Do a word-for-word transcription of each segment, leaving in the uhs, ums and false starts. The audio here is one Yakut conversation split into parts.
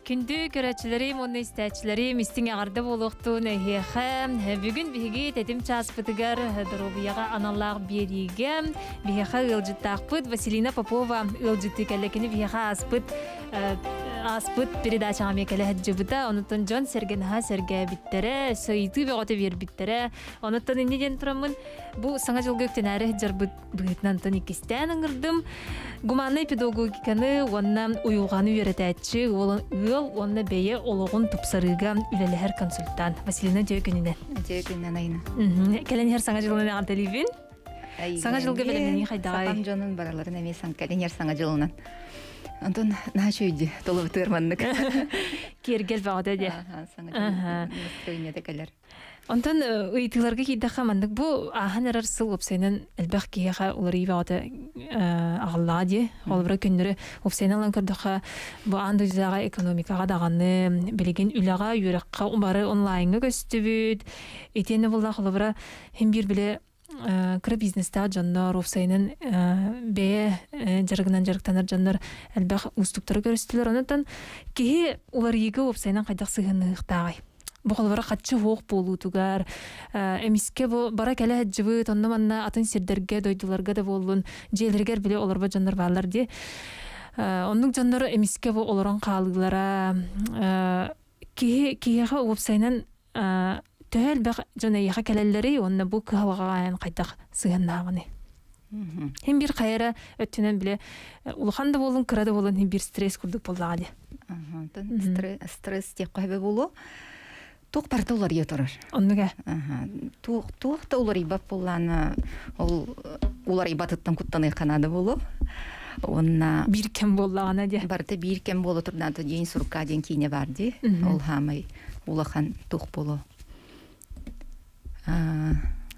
Күндү көрөөччүлэрим уонна истээччилэрим истиҥ эҕэрдэ буолуохтун эһиэхэ. Бүгүн биһиги тэтим чааспытыгар доруобуйаҕа аналлаах биэриигэ биһиэхэ ыалдьыттаахпыт Василина Попова ыалдьыттыы кэллэ. Кини биһиэхэ ааспыт ааспыт передачаҕа эмиэ кэлэ сылдьыбыта. Онуттан дьон сэргэ наһаа сэргээбиттэрэ, ыйытыы бөҕөтө биэрбиттэрэ. Онуттан инньэ диэн тураммын бу саҥа дьылга үктэнээри сылдьарбыт быһыытынан онтон иккистээн ыҥырдым. Гуманнай педагогиканы уонна уйулҕаны үөрэтээччи, ыал уонна бэйэ олоҕун тупсарыыга үлэлэһэр консультант Василина үтүө күнүнэн. Үтүө күнүнэн, Айна. Кэлэн иһэр саҥа дьылынан эҕэрдэлиибин. Саҥа дьылга бэлэмнэнии хайдаҕай? Сахам дьонун барыларын эмиэ кэлэн иһэр саҥа дьылынан. Онтон наһаа үчүгэй толобутугар маннык. Киэргэл бөҕөтө диэ. Саҥа дьыл настроениета кэлэр. Онтон ыйытыыларга киирдэххэ маннык бу ааһан эрэр сыл уопсайынан элбэх киһиэхэ уларыйыы бөҕөтө аҕаллаҕа дии. Холобура күннэри уопсайынан ылан көрдөххө бу аан дойдутааҕы экономикаҕа даҕаны билигин үлэҕэ, үөрэххэ бары онлайҥҥа көстүбүт. Итиэннэ буолла холобура хин биир били кыра бизнестаах дьоннор уопсайынан бэйэ дьарыгынан дьарыктанар дьоннор элбэх уустуктары көрүстүлэр. Онон киһи уларыйыыга уопсайынан хайдах сыһыанныахтааҕый? Бу холобура хаччы хуох буолуутугар, эмискэ бу бара кэлэ сылдьыбыт, онно манна атын сирдэргэ, дойдуларга да буоллун, дьиэлэригэр били олорбот дьоннор бааллар дии. Оннук дьоннор эмискэ бу олорон хаалыылара, киһи киһиэхэ уопсайынан төһө элбэх дьон эйиэхэ кэлэллэрий уонна бу кыһалҕаҕа хайдах сыһыаннааҕыный? Хин биир хайара өттүнэн биле улахан да буолун, кыра да буолун хин биир стресс курдук буоллаҕа дии. Стресс диэххэ сөбө буолуо. Туох барыта уларыйа турар. Оннуга. Туох туох да уларыйбат буоллаана ол уларыйбатыттан куттаныахха наада буолуо. Уонна биир кэм буоллаҕына диэ. Барыта биир кэм буола турдаата диэн сурукка диэн киинэ бар дии. Ол хаамай улахан туох буолуо.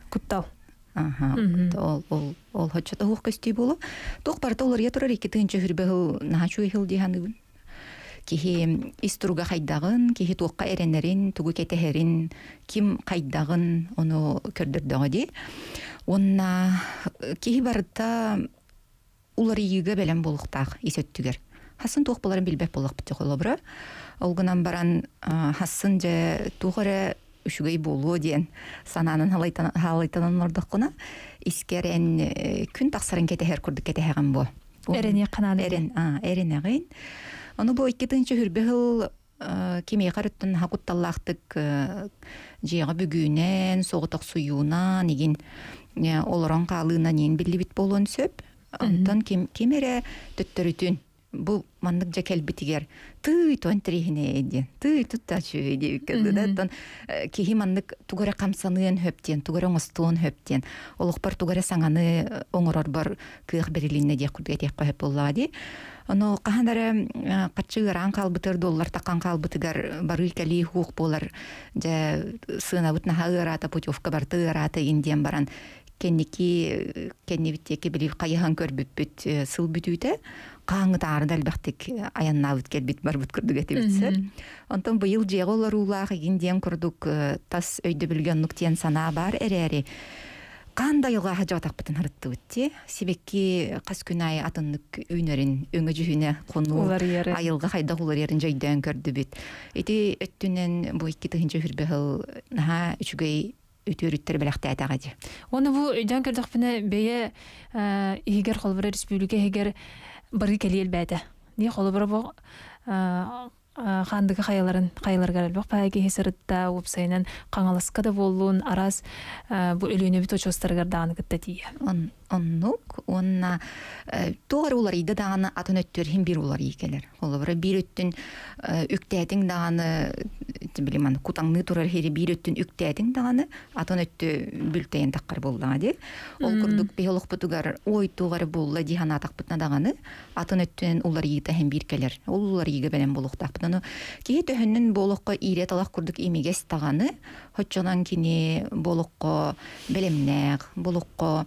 Куттал. Аха. Ол ол ол хоччото хуох көстүү буолуо. Туох барыта уларыйа турар икки тыһыынча сүүрбэ сыл наһаа үчүгэй сыл дии саныыбын. Киһи ис туруга хайдаҕын, киһи туохха эрэнэрин, тугу кэтэһэрин, ким хайдаҕын ону көрдөрдөҕө дии. Уонна киһи барыта уларыйыыга бэлэм буолуохтаах ис өттүгэр. Хасын туох буоларын билбэт буоллахпыт холобура. Ол гынан баран хасын дьэ туох эрэ үчүгэй буолуо диэн санаанан халайтанан олордоххуна искэр эн күн тахсарын кэтэһэр курдук кэтэһэҕин буо. Эрэниэххэ наада. Эрен, а, эрэнэҕин. Ону бу икки тыһыынча сүүрбэ сыл кимиэхэ өрүттэн наһаа кутталлаахтык дьиэҕэ бүгүүнэн, соҕотохсуйуунан игин олорон хаалыынан иин биллибит буолуон сөп. Онтон ким, ким эрэ төттөрүтүн бу маннык дьэ кэлбитигэр тыый туон тириһинэ диэн тыый тутта үчүгэй диэбиккэ да оттон киһи маннык тугу эрэ хамсаныан сөп диэн тугу эрэ оҥостуон сөп диэн олохпор тугу эрэ саҥаны оҥорорбор кыах бэрилиннэ диэх курдук этиэххэ сөп буоллаҕа дии. Ону хаһан эрэ хаччы ыараан хаалбытыгар доллар таккан хаалбытыгар барыы кэлии хуох буолар дьэ сыанабыт наһаа ыараата путевка барыта ыараата игин диэн баран кэнники кэннибит диэки били хайыһан көрбүппүт сыл бүтүүтэ хааңытаары да элбэхтик айаннаабыт кэлбит барбыт курдук этибит. Онтон быйыл дьиэҕэ олоруулаах игин диэн курдук тас өйдөбүлгэ оннук диэн санаа баар эрээри хаан да айылҕа дьаатахпытын харыттыбыт ти сибэкки хас күн аайы атыннык үүнэрин өҥө дьүһүнэ хонуу айылҕа хайдах уларыйарын дьойдөөн көрдүбүт. Ити өттүнэн бу икки тыһыынча сүүрбэ сыл наһаа үчүгэй үтүөрүттэр бэлэхтээтэҕэ дии. Уонна бу өйдөөн көрдөхпүнэ бэйэ иһигэр холобура республика иһигэр барыы кэлии элбээтэ. Дии холобура бу хаандыга хайаларын хайаларыгар элбэх баай киһи сырытта уопсайынан Хаҥаласка да буоллун араас бу Өлүөнэбит очуостарыгар даҕаны кытта тиийэ. Оннук уонна туох эрэ уларыйда даҕаны атын өттүгэр иһин биир уларыйыы кэлэр. Холобура биир өттүн үктээтиҥ даҕаны билим кутаҥныы турар иһири биир өттүн үктээтиҥ даҕаны атын өттү бүлтэйэн таххар буоллаҕа дии. Ол курдук биһи олохпутугар ой туох эрэ буолла дии санаатахпытына даҕаны атын өттүнэн уларыйыыта иһин биир кэлэр. Ол уларыйыыга бэлэм буолуохтаахпыт. Ону киһи төһөннөн буолуохха иирэ талах курдук имигэс даҕаны хоччонон кини буолуохха бэлэмнээх, буолуохха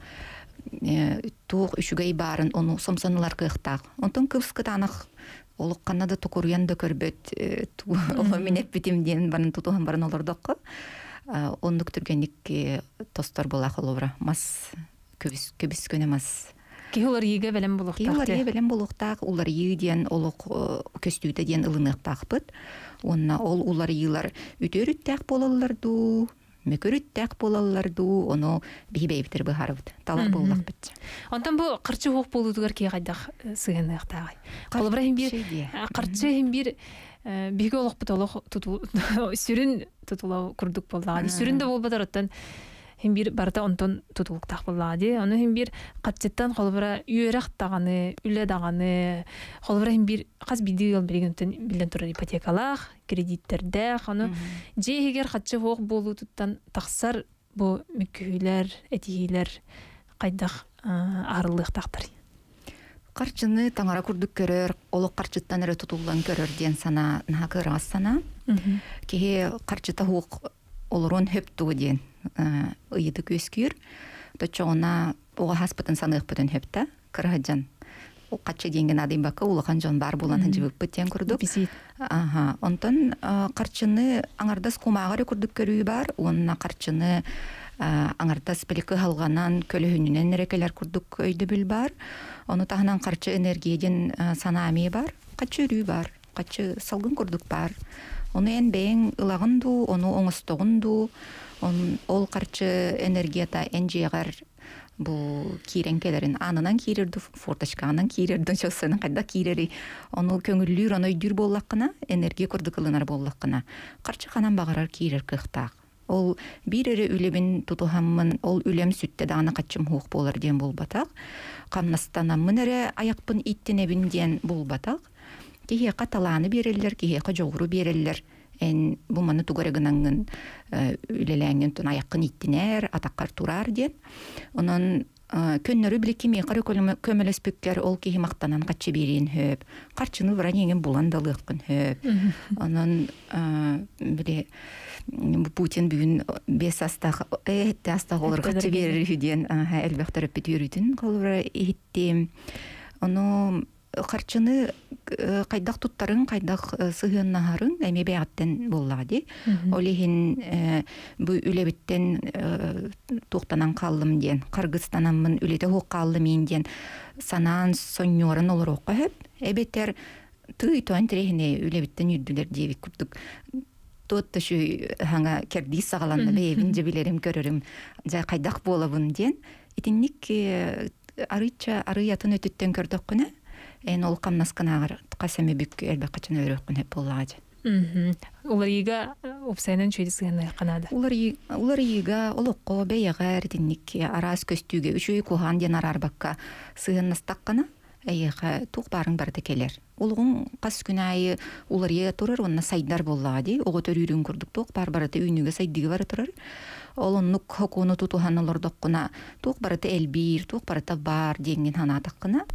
туох үчүгэй баарын ону сомсонулар кыахтаах. Онтон кыбыс кытаанах олукканна да токуруйан да көрбөт оло мин эппитим диэн барын тутуһан баран олордокко оннук түргэнник тостор буолаах олобура мас көбүс көбүс көнө мас Киһи уларыйыыга бэлэм Киһи буолуохтаах уларыйыы дии. бэлэм буолуохтаах, уларыйыы диэн олох көстүүтэ диэн ылыныахтаахпыт. Уонна ол уларыйыылар үтүөрүттээх буолаллар дуу, мөкүрүттээх буолаллар дуу, ону биһи бэйэбитэр быһаарабыт. Талар буоллахпыт. Онтон бу харчы хуох буолуутугар киһи хайдах сыһыаныахтааҕый? Холобура иһин биир Харчы диэ. харчы иһин биир биһиги олохпут олох тутул сүрүн тутула курдук буоллаҕа. Сүрүн да буолбатар оттон хим бир барыта онтон тутулуктаах буоллаҕа дии. Ону хим бир харчыттан холобура үөрэх даҕаны, үлэ даҕаны, холобура хим бир хас биирдии ыал билигин биллэн турар ипотекалаах, кредиттердээх, ону дьиэ иһигэр харчы хуох буолуутуттан тахсар бу мүккүһүүлэр, этиһиилэр хайдах аһарыллыахтаахтар. Харчыны таҥара курдук көрөр, олох харчыттан эрэ тутуллан көрөр диэн санаа наһаа кыараҕас санаа. Киһи харчыта хуох олорон хөп тугу диэн ыйыты күөскүүр. Точоҕуна оҕо хаспытын саныахпытын хөптө, кыраһаджан. Каччы диэнген адыйбакка бакка улахан дьон бар булан ханжыбыппыт диэн курдук. Аха, онтон харчыны аңардас кумааҕар курдук көрүү бар, уонна харчыны аңардас билики халганан көлөһүнүнэн эрекелер курдук өйдөбүл бар. Ону таһынан харчы энергия диэн санаамие бар, харчы өрүү бар, харчы салгын курдук бар. Ону эн бэйэҥ ылагын дуу, ону оҥостоҕун дуу, ол харчы энергията эн дьиэҕэр бу киирэн келерин анынан киирерду, форточканан киирерду, чоссанын кайда киирери, ону көңүллүүр, ону өйдүүр буоллаххына, энергия курдук ылынар буоллаххына, харчы ханан баҕарар киирер кыахтаах. Ол биир эрэ үлэбин тутуһаммын, ол үлэм сүттэ даҕаны хаччым хуох буолар диэн буолбатах. Хамнастанаммын эрэ айахпын иттинэбин диэн буолбатах. Киһиэхэ талааны биэрэллэр, киһиэхэ дьоҕуру биэрэллэр. Эн бу маны тугара гынаңҥын үлэлээҥҥин тун айаххын иттинээр, атаккар тураар диэн. Онон көннөрү били кимиэхэ көмөлөспүккэр ол киһи мактанан хаччы биэриэн хөп. Харчыны баран иҥин булан далыаххын хөп. Онон били Путин бүгүн бес астах, этте астах олор хаччы биэрер үһү диэн элбэх төрөппүт үөрүүтүн холобура иһиттим. Ону харчыны кайдах туттарын, кайдах сыһыаннаһарын эми бэйэҕиттэн буоллаҕа дии. Ол иһин бу үлэбиттэн туохтанан хааллым диэн, харгыстанаммын үлэтэ хуох хааллым иин диэн санаан сонньуоран олоруохха сөп. Эбэтэр тыый туан тирэһине үлэбиттэн үрдүлэр диэбит курдук туот шу хаҥа кэрдиис саҕаланна бэйэбин дьэ көрөрүм дьэ хайдах буолабын диэн. Итинник арыйча арыйатын өтүттэн көрдөххүнэ эн ол камнасканааҕар хасами бүк элбэх качан өрөккүн хеп буоллаҕа. Уларыйыга упсайынан чүйді сыһыанныахха наада. Уларыйыга олоххо бэйэҕэр итинник араас көстүүгэ үчүгэй куһаан диэн араарбакка сыһыаннастаххына эйиэхэ туох баарыҥ барыта кэлэр. Улугуҥ хас күн аайы уларыйа турар уонна сайдар буоллаҕа дии. Оҕо төрүүрүн курдук туох баар барыта үүнүүгэ сайдыыга бара турар. Ол оннук хокуону тутуһан олордоххуна туох барыта элбиир, туох барыта баар диэҥҥин ханаатаххына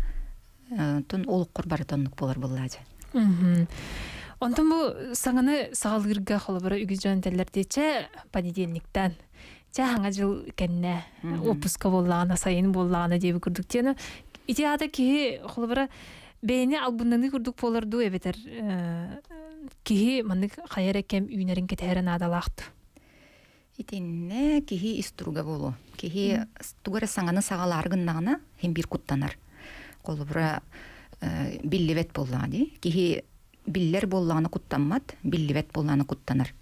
тун олуккор барыта оннук буолар буоллаача. Онтон бу саҥаны саҕалыырга холобура үгүс дьон этэллэр диэчэ понедельниктан чэ хаҥа жыл кэннэ отпуска буоллаҕына сайын буоллаҕына диэби курдук диэни ити аата киһи холобура бэйэни албыннаныы курдук буолар дуу эбэтэр киһи маннык хайа эрэ кэм үүнэрин кэтэһэрэ наадалаахту. Итиннэ киһи ис туруга буолуо. Киһи тугу эрэ саҥаны саҕалаары гыннаҕына хим биир куттанар. Холобура биллибэт буоллаҕа дии. Киһи биллэр буоллаҕына куттаммат, биллибэт буоллаҕына куттанар.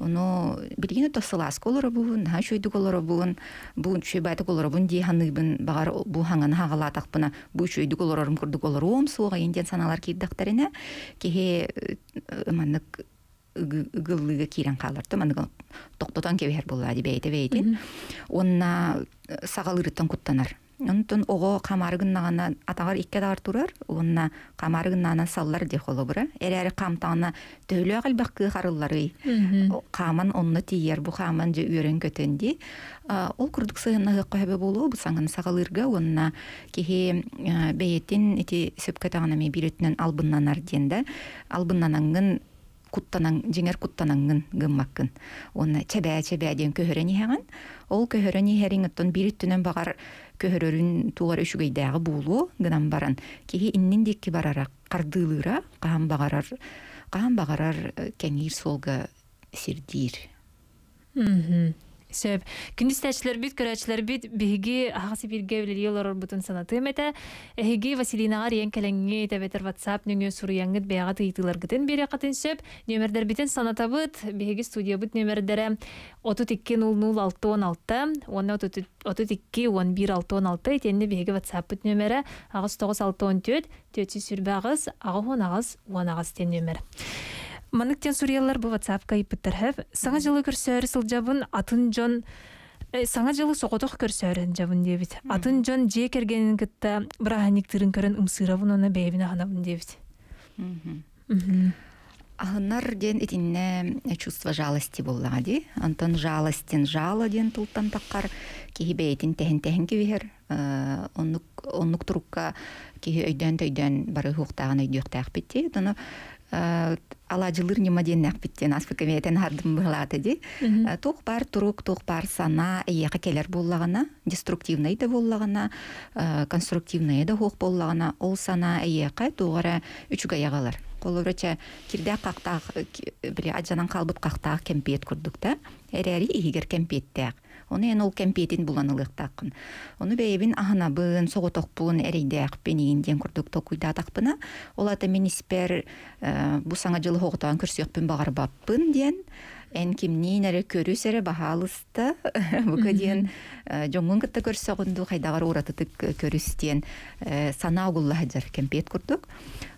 Ону билигин то сылааска олоробун, наһаа үчүгэйдик олоробун, бу үчүгэй баайтык олоробун дии ханыыбын, баҕар бу хаҥаны хаҕалаатахпына, бу үчүгэйдик олорорум курдук олоруом суоҕа диэн санаалар киирдэхтэринэ, киһи маннык ыгыллыыга киирэн хаалар то маннык тохтотон кэбиһэр буоллаа дии бэйэтэ бэйэтин. Уонна саҕалыырыттан куттанар. Онтон оҕо хамаары гыннаҕына атаҕар икки атаҕар турар, уонна хамаары гыннаҕына саллар дии холобура. Эрээри хаамтаҕына төһөлөөх элбэх кыах арылларый. Хааман онно тиийэр, бу хааман дьэ үөрэн көтөн дии. Ол курдук сыһыннаһыахха сөбө буолуо, бу саҥаны саҕалыырга уонна киһи бэйэтин ити сөпкө таҕына эмиэ биир өттүнэн албыннанар диэн да, албыннанаҥҥын куттанан, дьиҥэр куттанаҥҥын гыммаккын. Уонна чэбээ чэбээ диэн көһөрөн иһэҕин. Ол көһөрөн иһэриҥ оттон биир өттүнэн баҕар көһөрөрүн тугар үчүгэйдээҕи буолуо гынан баран киһи иннин диэки барара хардыылыыра хаһан баҕарар хаһан баҕарар кэҥиир суолга сирдиир. Сөп. Күндү истээччилэрбит, көрөөччүлэрбит биһиги аһаҕас эфиргэ үлэлии олорорбутун санатыам этэ. Эһиги Василинаҕа эрийэн кэлэҥҥит, эбэтэр WhatsApp нөҥүө суруйаҥҥыт бэйэҕит ыйытыыларгытын биэриэххитин сөп. Нүөмэрдэрбитин санатабыт. Биһиги студиябыт нүөмэрдэрэ отут икки нөл нөл алта уон алта уонна отут икки уон биир алта уон алта. Итиэннэ биһиги WhatsApp-пыт нүөмэрэ аҕыс тоҕус алта уон түөрт түөрт сүүс сүүрбэ аҕыс аҕыс уон аҕыс уон аҕыс диэн нүөмэр. Маннык диэн суруйаллар бу WhatsApp-ка ыйыппыттар хэв. Саҥа дьылы көрсөөрү сылдьабын, атын дьон э, саҥа дьылы соҕотох көрсөөрү сылдьабын диэбит. Атын дьон дьиэ кэргэнин кытта бырааһынньыктыырын көрөн ымсыырабын уонна бэйэбин аһынабын диэбит. Аһынар диэн итиннэ чувство жалости буоллаҕа дии. Онтон жалостин жало диэн тылтан таххар киһи бэйэтин тэһин-тэһин кэбиһэр. Оннук, оннук турукка киһи өйдөөн-төйдөөн бары хуохтааҕын өйдүөхтээхпит дии. Ону алаадьылыыр ньыма диэннээхпит диэн ааспыкка бэйэтин аһардым быһылаата дии. Туох баар турук, туох баар санаа эйиэхэ кэлэр буоллаҕына, деструктивнай да буоллаҕына, конструктивнай да суох буоллаҕына, ол санаа эйиэхэ туох эрэ үчүгэй аҕалар. Холобура, чэ, кирдээх хахтаах, били адьанан хаалбыт хахтаах кэмпиэт курдук да, эрээри иһигэр кэмпиэттээх. Ону эн ол кэмпиэтин булан ылыахтааххын. Ону бэйэбин аһынабын, соҕотохпун, эрэйдээхпин иин диэн курдук толкуйдаатахпына, ол ата мин испэр бу саҥа дьылы хоҕотоон көрсүөхпүн баҕарбаппын диэн, эн кимниин эрэ көрүс эрэ баһаалыста, бука диэн дьоҥҥун кытта көрсөҕүн дуу, хайдаҕар уратытык көрүс диэн санаа угулла сылдьар кэмпиэт курдук.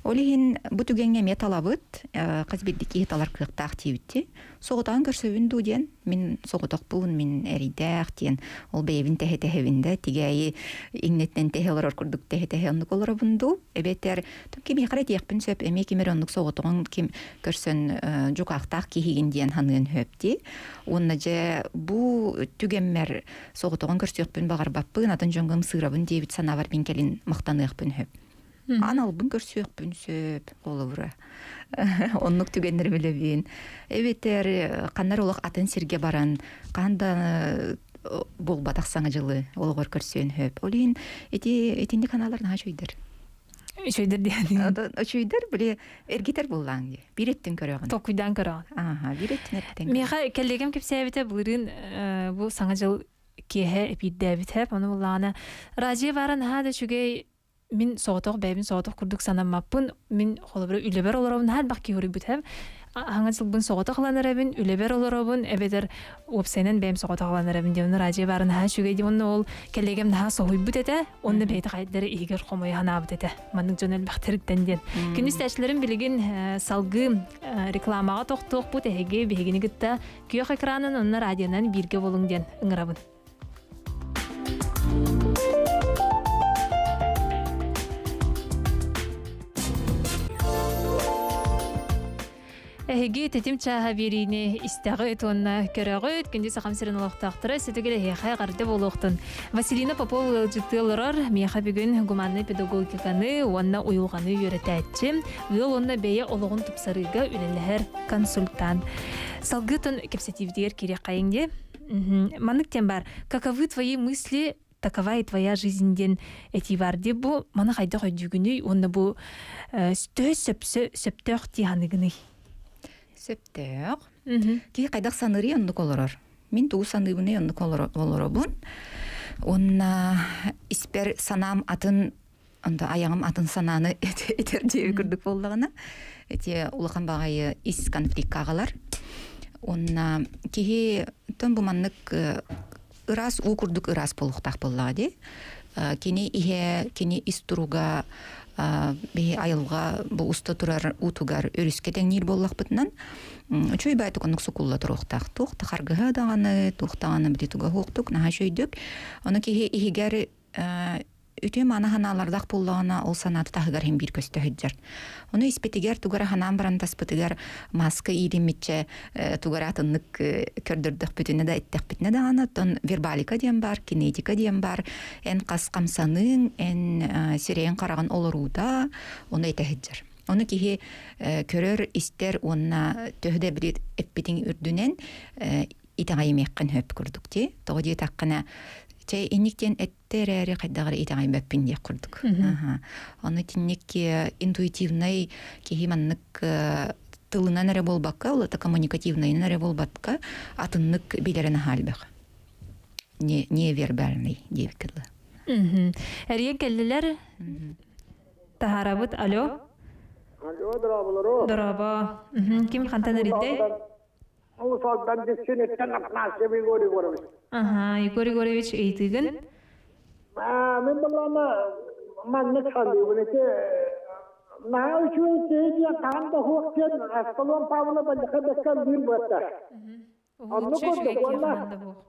Ол иһин бу түгэҥҥэ эмиэ талабыт, хас биирдии киһи талар кыахтаах диэбитти. Соҕотоон көрсөбүн дуу диэн, мин соҕотохпун, мин эрийдээх диэн, ол бэйэбин тэһэ-тэһэбин да, тигээйи иҥнэттэн тэһэ олорор курдук тэһэ-тэһэ оннук олоробун дуу, эбэтэр кимиэхэ эрэ этиэхпин сөп, эмиэ ким эрэ оннук соҕотоҕун ким көрсөн дьукаахтаах киһигин диэн ханыан сөп дии. Уонна дьэ бу түгэммэр соҕотоҕун көрсүөхпүн баҕарбаппын, атын дьоҥҥо ымсыырабын диэбит санаабар мин кэлин махтаныахпын сөп. Аналбын көрсүөхпүн сөп, холобура. Оннук түгэннэр билэбин. Эбэтэр ханнар олох атын сиргэ баран, хаһан да буолбатах саҥа дьылы олоҕор көрсүөн сөп. Ол иһин ити итинник ханаалар наһаа үчүгэйдэр. Үчүгэйдэр диэн. Үчүгэйдэр били эргитэр буоллаҥ дии. Биир өттүн көрөҕүн. Толкуйдаан көрөҕүн. Аха, биир өттүн эргитэн. Миэхэ кэллиэгэм кэпсээбитэ былырыын бу саҥа дьыл киэһэ эпиирдээбитэ. Ону буллаҕына радио баара наһаа да үчүгэй мин соҕотох бэйэбин соҕотох курдук санаммаппын, мин холобура үлэбэр олоробун наһаа элбэх киһи уруйбут аһаҥа дьылбын соҕотох ылан эрэбин, үлэбэр олоробун, эбэтэр уопсайынан бэйэм соҕотох ылан эрэбин диэн радио баара наһаа үчүгэй диэн онно ол кэллиэгэм наһаа соһуйбут этэ, онно бэйэтэ хайдары иһигэр хомойо ханаабыт этэ. Маннык дьон элбэхтэриттэн диэн. Күнүс тээчилэрим билигин салгыы рекламаҕа тохтуохпут эһиги биһигини кытта күөх экранын онно радионан бииргэ болуҥ диэн ыҥырабын. Эһиги тэтим чааһа биэриини истэҕит уонна көрөҕүт, күндү сахам сирин олохтоохторо сөтүгэр эһиэхэ эҕэрдэ буолуохтун. Василина Попова ыалдьыттыы олорор, миэхэ бүгүн гуманнай педагогиканы уонна уйулҕаны үөрэтээччи, ыал уонна бэйэ олоҕун тупсарыыга үлэлэһэр консультант. Салгыы кэпсэтиибитигэр кириэххэйиҥ дии. Маннык диэн баар, каковы твои мысли, такова и твоя жизнь диэн этии бар дии. Бу маны хайдах өйдүүгүнүй уонна бу төһө сөптөөх дии ханыгыный? Сөптөөх. Киһи хайдах саныырый оннук олорор. Мин тугу саныыбыный оннук олоробун. Онна испэр санаам атын, онто аяҕым атын санааны этэр диэби курдук буоллаҕына, эти улахан баҕайы ис конфликкаҕалар. Онна киһи тон бу маннык ыраас уу курдук ыраас буолуохтаах буоллаҕа дии. Кини иһэ, кини ис туруга биһи айылҕа бу уста турар уутугар өрүскэ тэҥниир буоллахпытынан үчүгэй баайдык оннук сукулла туруохтаах. Туох да харгыһа даҕаны, туох даҕаны бити туга хуохтук, наһаа үчүгэйдик. Ону киһи иһигэр үтүө маана ханаалардаах буоллаҕына, ол санааты таһыгар иһин биир көстө сылдьар. Ону испитигэр тугара ханаан баран таспытыгар маска иилиммитчэ тугара атыннык көрдөрдөхпүтүнэ да эттэхпитинэ даҕаны, оттон вербалика диэн бар, кинетика диэн бар, эн хас хамсаныың, эн сирэйин хараҕын олоруута, ону этэ сылдьар. Ону киһи көрөр, истэр уонна төһө да билит эппитиҥ үрдүнэн итэҕэйимиэххин хөп курдук дии. Тоҕо диэтэххинэ, чэй инниктен эттерээри хайдаҕар итэҕэйбэппин диэх курдук. Ону тинник интуитивнай киһи маннык тылынан эрэ буолбакка, ол это коммуникативнайынан эрэ буолбакка, атыннык билэрин аһаалбах. Не невербальный диэбиккэ. Эрийэн кэллилэр. Таһаарабыт. Алло. Алло, дорооболоруҥ. Дорообо. Ким хантан эрийдэ? Уус-Алдан Дүпсүнүттэн Афанасьев Егор Егорович. Ага, Егор Егорович, ыйытыыгын. Аа, мин буоллаҕына маннык саныыбын ити наһаа үчүгэй киһи диэн хаһан да суох диэн Аскалон Павлов бандьака бэккэ ыллыыр буолта. Оннук курдук уонна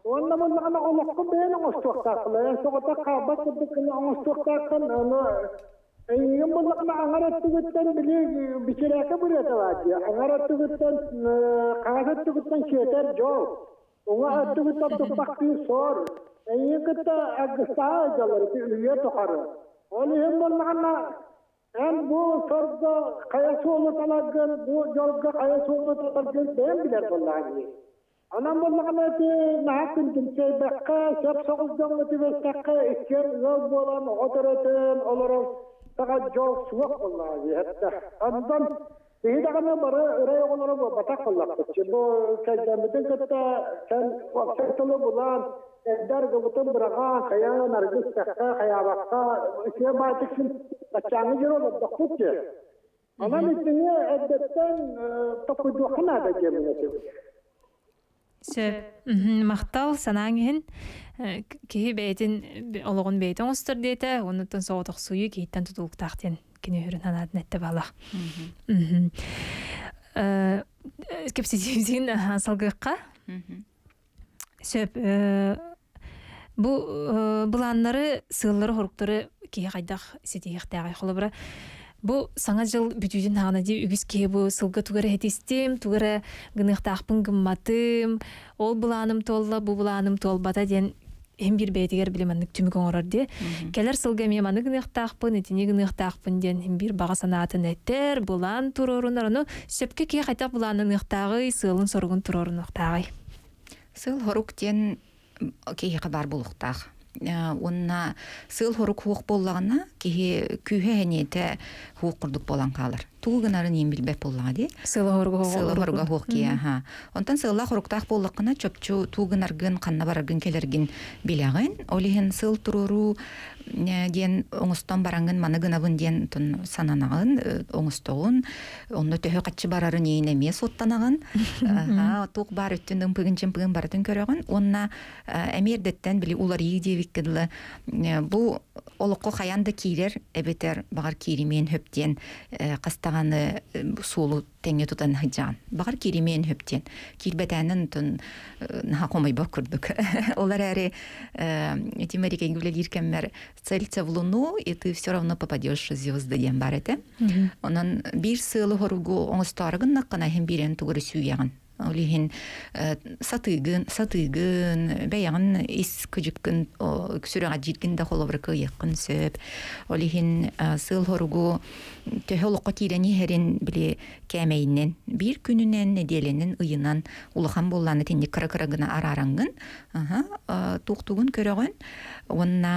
уонна буоллаҕына олоххун бэйэн оҥостуохтааххын, эн соҕотох хаалбат курдук гына оҥостуохтааххын, ону эйигин буоллаҕына аҥар өттүгүттэн били бичирээкэ бырыата баар дии, аҥар өттүгүттэн хаҥас өттүгүттэн сиэтэр дьол, уҥа өттүгүттэн туппахтыыр сор, эйигин кытта аргыстаһа сылдьаллар ити үйэ тухары. Ол иһин буоллаҕына эн бу сорго хайа суолу таларгын, бу дьолго хайа суолу таларгын бэйэҥ билэр буоллаҕыҥ дии. Онон буоллаҕына ити наһаа күндүмсэйбэккэ, сөп соҕус дьоҥҥо түбэстэххэ, иккиэн ыал буолан, оҕо төрөтөн олорор саҕа дьол суох буоллаҕа дии. Онтон киһи даҕаны бары ырай оҕолоро буолбатах буоллахпыт. Бу кэргэммитин кытта кэн уопсай тылы булан, эрдэ аргыбытын быраҕан, хайаан аргы истэххэ, хайаабакка, үчүгэй баайтык син баччааҥҥы дьон олордохпут дии. Онон итини эрдэттэн толкуйдуохха наада диэммин этим. Сөп. Махтал санааҥ иһин. Киһи бэйэтин олоҕун бэйэтин оҥостор диэтэ, оннуттан соҕотохсуйуу киһиттэн тутулуктаах диэн кини үрүн санаатын этте балах. Кэпсэтиибитин салгыахха. Сөп. Бу былааннары, сыаллары, хоруктары киһи хайдах ситиһиэхтээҕий? Холобура, бу саҥа дьыл бүтүүтүн хаҕана дии үгүс киһи бу сылга тугу эрэ иһитистим, тугу эрэ гыныахтаахпын гымматым, ол былааным туолла, бу былааным туолбата диэн иһин биир бэйэтигэр били маннык түмүк оҥорор дии. Кэлэр сылга эмиэ маны гыныахтаахпын, итини гыныахтаахпын диэн иһин биир баҕа санаатын этэр, былаан туруорунар. Ону сөпкө киһи хайдах былааннаныахтааҕый, сыалын-соругун туруорунуохтааҕый? Сыал хорук диэн киһиэхэ баар буолуохтаах. Уонна сыал хорук хуох буоллаҕына, киһи күүһэ эниэтэ хуох курдук буолан хаалар. Тугу гынарын иин билбэт буоллаҕа дии. Сыала хоруга Сыала хоруга хуох киһи, аха. Онтон сыаллаах хоруктаах буоллаххына, чопчу туу гынаргын, ханна бараргын кэлэргин билэҕин. Ол иһин сыл туруоруу диэн оҥостон бараҥҥын маны гынабын диэн сананаҕын, оҥостоҕун. Онно төһө хаччы барарын иин эмиэ суоттанаҕын. Аха, туох баар өттүн ымпыгын-чымпыгын барытын көрөҕүн. Уонна эмиэ эрдэттэн били уларыйыы диэбиккэ дылы бу олоххо хайаан да киирэр эбэтэр баҕар кииримиэн хөп диэн хастаҕаны суолу тэҥҥэ тутан сылдьаҕын. Баҕар кииримиэн хөп диэн. Киирбэтээнэн тун наһаа хомойбот курдук. Ол эрээри ити Америкаҥа үлэлиир кэммэр целься в луну, и ты все равно попадешь в звезды диэн баар этэ. Онон биир сыалы хоругу оҥостоору гыннаххына иһин биирэн тугу эрэ сүүйэҕин. Ол иһин сатыыгын, сатыыгын, бэйэҕин ис кыдьыккын сүрэҕэлдьииргин да холобура кыайыаххын сөп. Ол иһин сыал хоругу төһө олоххо киирэн иһэрин били кээмэйинэн биир күнүнэн, нэдиэлэнэн, ыйынан улахан буоллааны итинник кыра-кыра гына араараҥҥын туохтугун көрөҕүн уонна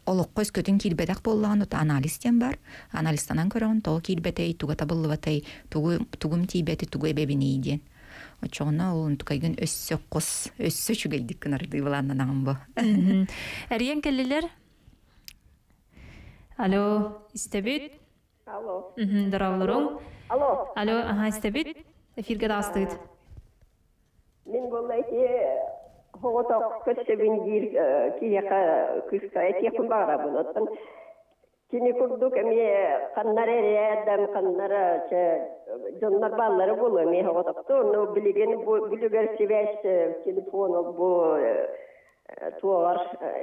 олоххо өскөтүн киирбэтэх буоллаҕына анализ диэн бар. Анализтанан көрөҕүн, тоҕо киирбэтэй, туга табыллыбатай, тугу тугум тиийбэти, тугу эбэбиний диэн. Оччоҕуна ол онтукайгын өссө хос, өссө үчүгэйдик гынардыы былааннанаҕын бу. Эрийэн кэллилэр. Алло, истэбит? Алло. Дорооболоруҥ. Алло. Алло, аха, истэбит? Эфиргэ таҕыстыгыт. Мин буолла ити соҕотох көрсөбүн диир киһиэхэ кыыска этиэхпин баҕарабын. Оттон кини курдук эмиэ ханнара эрээдам, ханнара чэ дьоннор бааллара буолуо эмиэ соҕотохто. Ону билигин бу бүлүгэр сибээс телефон бу туоҕар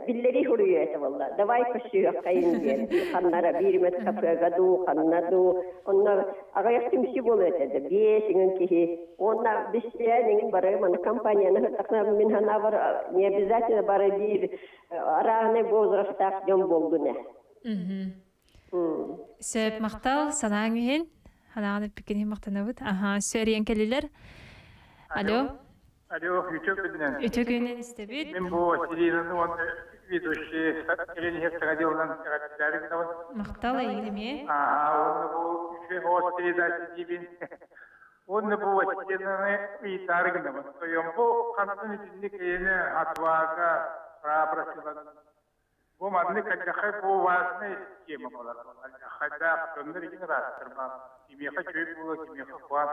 биллэрии суруйуо этэ буолла. Давай көрсүөххэйин диэн ханнара биир эмэ кафега дуу, ханна дуу. Онно аҕыйах түмсүү буолуо этэ да биэс иҥин киһи. Уонна бистээн иҥин бары маны компанияны сыттахна мин санаабар не обязательно бары биир разный возрастаах дьон буолгун ээ. Сөп, махтал санааҥ иһин. Санааҕын эппиккин иһин махтанабыт. Аха, өссө эрийэн кэллилэр. Алло. Алло, үтүө күнүнэн. Үтүө күнүнэн истэбит. Мин бу Василинаны уонна ведущий Елена Херцега делынан эҕэрдэлээри гынабын. Махтал эйигин эмиэ. Аа, уонна бу үчүгэй оҕо передача диибин. Онны бу вачченаны ыйтарыгынабын. Тойон бу хантан итинник эйэни отвага, храбрость. Бу манны кадьахай бу важная тема болар. Хайда көннөр игин растыр ба. Кимеха чөй була, кимеха хуан.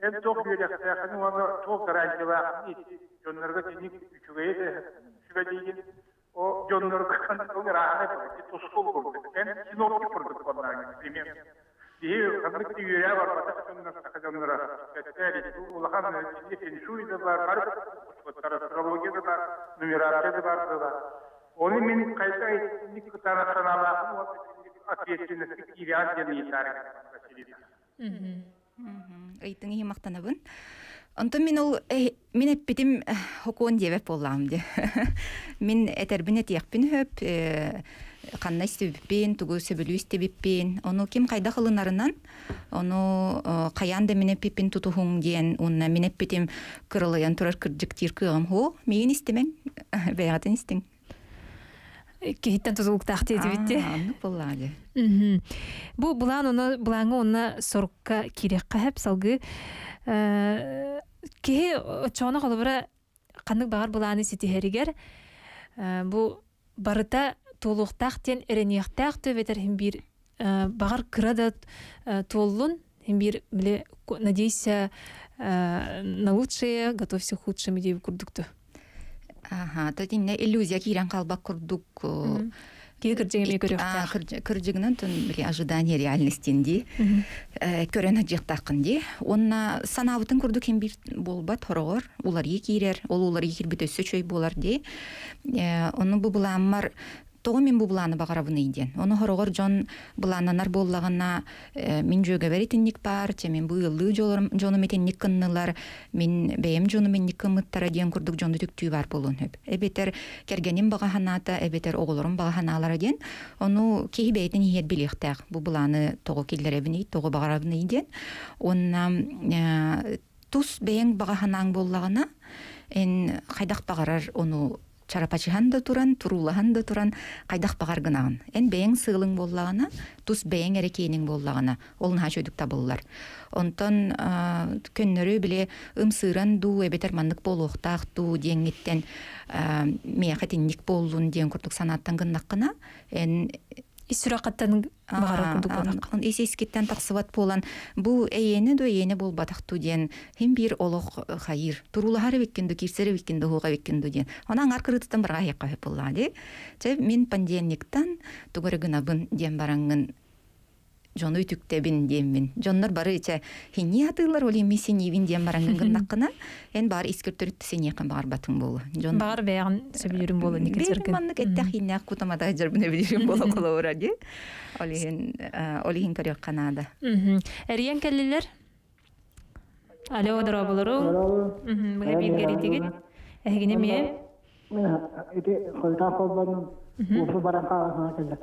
Эн тох үйрәхтәхini оны тох гарантиялахын ити жоннорго тиник үчүгэй де сүбәдигин. О жоннорго кантон рахны бу тускул курдук. Эн синоптик курдук болар, пример. Дии ханнык үйрә бар бата жоннор жоннора. Кәттәри улахан тиник феншуй да бар, бар астрология да бар, нумерация да бар да. Оны мен кайта итинник кытара саналахын, ответственность кириан ден итарык. Ыйтың ихи мактанабын. Онтон мин ол мин эппитим хокуон диэбэт буоллаҕым дии. Мин этербин этиэхпин хөп, ханна истибиппин, тугу сөбүлүү истибиппин. Ону ким хайдах ылынарынан, ону хайаан да мин эппиппин тутуһуҥ диэн, уонна мин эппитим кырылыйан турар кырдьык диир кыаҕым һуох. Миигин истимэҥ, бэйэҕитин истиҥ. Киһиттэн тутулуктаах диэбитти. Оннук буоллаҕа дии. Бу булаан оны булааҥҥа уонна сорукка киириэххэ сөп салгыы. Киһи оччоҕуна холобура ханнык баҕар булааны ситиһэригэр бу барыта туолуохтаах диэн эрэниэхтээх түбэтэр иһин биир баҕар кыра да туоллун иһин биир били надейся на лучшее, готовься к худшему диэби курдукту. Аха, то тинне иллюзия киирэн хаалбат курдук. Киһи кырдьыгы эмиэ көрүөхтээх. Кырдьыгынан тон били ожидание реальностин дии. Көрөн хадьыахтааххын дии. Уонна санаабытын курдук хин биир буолбат хороҕор уларыы киирэр, ол уларыы киирбит өссө үчүгэй буолар дии. Ону бу былааммар тоҕо мин бу былааны баҕарабыный диэн. Ону хороҕор дьон былааннанар буоллаҕына мин дьүөгэбэр итинник баар, чэ мин бу ыаллыы дьонум итинник кыннылар, мин бэйэм дьонум инник кыммыттара диэн курдук дьону түктүү баар буолуон сөп. Эбэтэр кэргэним баҕа санаата, эбэтэр оҕолорум баҕа санаалара диэн. Ону киһи бэйэтин иһиэр билиэхтээх. Бу былааны тоҕо киллэрэбиний, тоҕо баҕарабыный диэн. Уонна тус бэйэҥ баҕа санааҥ буоллаҕына, эн хайдах баҕарар ону чарапачыһан да туран, туруулаһан да туран, хайдах баҕар гынаҕын. Эн бэйэҥ сыалыҥ буоллаҕына, тус бэйэҥ эрэ киэниҥ буоллаҕына, ол наһаа үчүгдүк табыллар. Онтон көннөрү били ымсыыран дуу, эбэтэр маннык буолуохтаах дуу диэҥҥиттэн миэхэ итинник буоллун диэн курдук санааттан гыннаххына, эн ис сүрэххиттэн баҕарар курдук буолар. Ис искиттэн тахсыбат буолан, бу эйиэнэ ду эйиэнэ буолбатах дуу диэн хим биир олох хайыр. Туруулаһар эбиккин ду, киирсэр эбиккин ду, хуоҕа эбиккин ду диэн. Онон аҥаар кырыытыттан барҕа иһиэххэ сөп буоллаҕа дии. Чэ, мин понедельниктан тугу эрэ гынабын диэн бараҥҥын дьону үтүктэбин диэммин. Дьоннор бары чэ хиннии хатыылар, ол имми синьиибин диэн бараҥҥын гыннаххына, эн баар искэр төрүт синьиэххин баҕарбатыҥ буолуо. Дьон Баҕар бэйэҕин сөбүлүүрүн буолуо, Никит Бэйэм Сыргын. маннык эттэх хиннээх кутамата сылдьарбын эбилиирим буола холобура дии. Ол иһин ол иһин көрүөххэ наада. Эрийэн кэллилэр. Алло, дорооболору. Быһа бииргэ эрийдигит. Эһигини эмиэ. Ити хойутаан холбонум уопу баран хаалан кэллэ.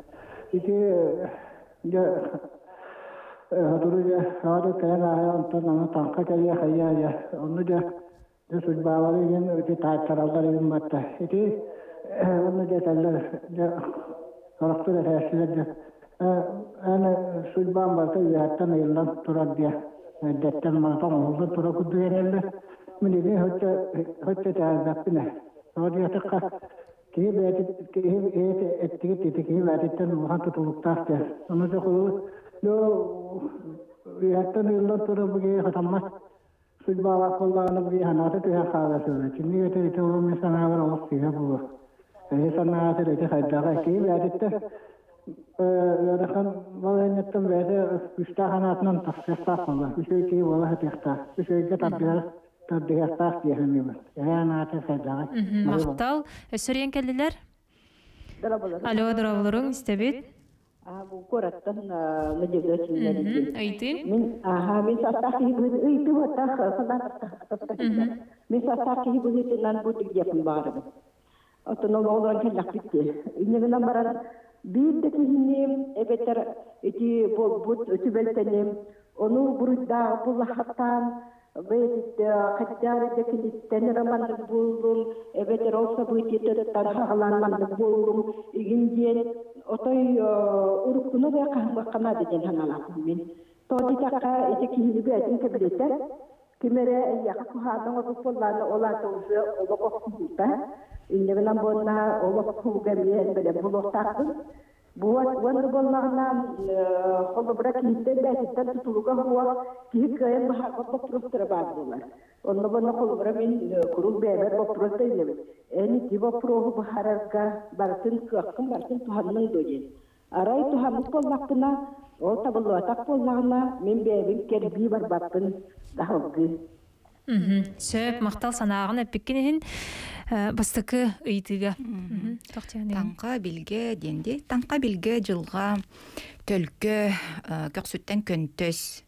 Ити дьэ хотуру дьэ саҕа кэлэн ааһа онтон аны таҥха кэлиэ хайа дьэ онну дьэ дьэ судьбаалары игин ити таайтараллар игин батта. Ити онну дьэ этэллэр дьэ сорохтор этээччилэр дьэ эн судьбаан барыта үөһэттэн ыйыллан турар диэ эрдэттэн барыта оҥоһуллан турар курдук эрэллэр. Мин ити хоччо хоччо этээбэппин ээ. Тоҕо диэтэххэ киһи бэйэтин киһи бэйэтэ эттигит ити киһи бэйэтиттэн улахан тутулуктаах диэн. Ону дьэ холобур үөһэттэн ыйыллан турар бу киһи хатаммат судьбалаах буоллаҕына бу киһи санаата түһэн хаалар сөбө. Кинини этэ ити ол мин санаабар олох сыыһа буолуо. Эһи санаатыр ити хайдаҕа киһи бэйэтиттэн ыарахан балаһыанньаттан бэйэтэ күүстээх санаатынан тахсыахтаах буолла. Үчүгэй киһи буола сатыахтаах. Үчүгэйгэ тардыһар тардыһыахтаах дии саныыбын. Эһи анаата хайдаҕа. Махтал. Өссө эрийэн кэллилэр. Алло, дорооболоруҥ, истэбит. Бу куораттан Надежда Васильевна. Ыйтын. Мин аха мин састаах киһи быһыытынан ыйты баттах санаат мин састаах киһи быһыытынан бу диэпин баҕарабын. Оттон ол оҕолорон кэллэхпит дии. Иннигинэн баран биир да киһини эбэтэр ити буолбут түбэлтэним ону буруйдаах буллахаттаан бэйэтиттэ киниттэн эрэ маннык буоллум эбэтэр ол событиетыттан хаҕалаан маннык буоллум игин диэн отой уруккуну да хаһымыахха наада диэн санаалаахпын мин. Тоди такка ити киһини бээтин кэбилэтэр. Кимере яха кухаанан оруппуллаана олаата уже олох охсуһуута. Иннегинэн буонна олох кууга эмиэ бэлэм булуохтаахпын. Буот уонна буоллаҕына холобура киһиттэн бээтиттэн тутулуга хуа киһи кыайан баһарбат боппуруостара баар буолар. Онно буонна холобура мин куруук бэйэбэр боппуруос да иннебин. Эн ити боппуруоһу баһарарга барытын кыаххын барытын туһанныҥ дуо диэн. Арай туһаммыт буоллахпына, ол табыллыбатах буоллаҕына, мин бэйэбин кэрбии барбаппын даһалгыы. Сөп, махтал санааҕын эппиккин иһин бастакы ыйытыыга. Таҥха билгэ диэнди. Таҥха билгэ дьылҕа төлкө көхсүттэн көнтөс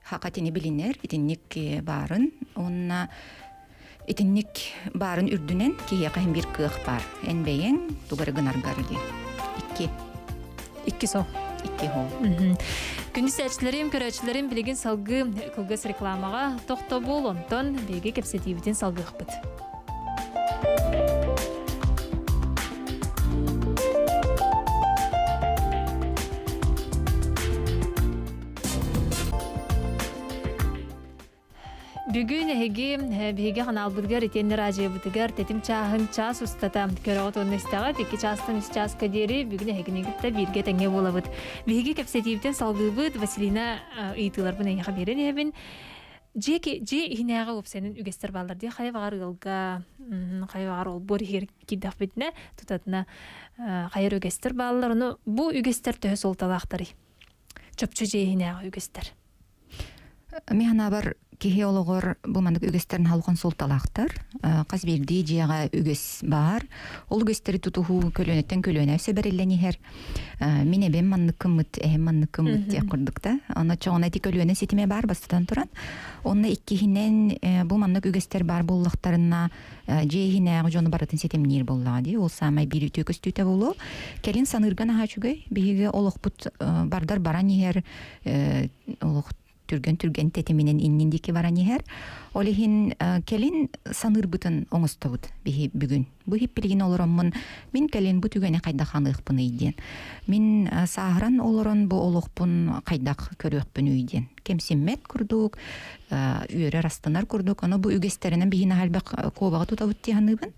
хакатини билинер итинник баарын онна итинник баарын үрдүнэн киһиэхэ иһин бир кыах бар. Эн бэйэҥ тугары гынаргар диэн. Икки. Икки со. Икки хол. Күндүс әчләрим, көрәчләрим билигин салгы кылгас рекламаға тохтобул, онтон биһиги кэпсэтиибитин салгыахпыт. Бүгүн эһиги биһиги ханаалбытыгар итиэннэ радиобытыгар тэтим чааһын час устата көрөҕүт уонна истэҕит икки чаастан үс чааска диэри бүгүн эһигини кытта бииргэ тэҥҥэ буолабыт. Биһиги кэпсэтиибитин салгыыбыт Василина ыйытыыларбын эйиэхэ биэрэн иһэбин. Дьиэ дьиэ иһинээҕи уопсайынан үгэстэр бааллар дии хайа баҕар ыалга хайа баҕар олбуор иһигэр киирдэхпитинэ тутатына хайар үгэстэр бааллар. Ону бу үгэстэр төһө суолталаахтарый? Чопчу дьиэ иһинээҕи үгэстэр. Мин киһи олоҕор бу маннык үгэстерин халхан суолталаахтар. Хас биирдии дьиэҕэ үгэс баар. Ол үгэстери тутуһуу көлүөнэттэн көлүөнэ сөбэриллэн иһэр. Мин эбэм манныккыммыт, эһэм манныккыммыт диэх курдук да. Онно чоҕуна ити көлүөнэ ситиме бар бастатан туран. Онно иккиһинэн бу маннык үгэстер бар буоллахтарына дьиэ иһинээҕи дьону барытын ситимниир буоллаҕа дии. Ол саамай биир үтүө көстүүтэ буолуо. Кэлин саныырган аһаа үчүгэй. Биһиги олохпут бардар баран иһэр олох түргэн-түргэн тэтиминэн иннин диэки баран иһэр. Ол иһин кэлин саныырбытын оҥостобут биһи бүгүн. Бу хиппилигин олороммун мин кэлин бу түгэни хайдах ханыахпын ыйдиэн. Мин сааһыран олорон бу олохпун хайдах көрүөхпүн үйдиэн. Кемсиммет курдук, үөрэр астанар курдук, ону бу үгэстеринен биһин ахалбак кобаға тутабыт тиһаныыбын.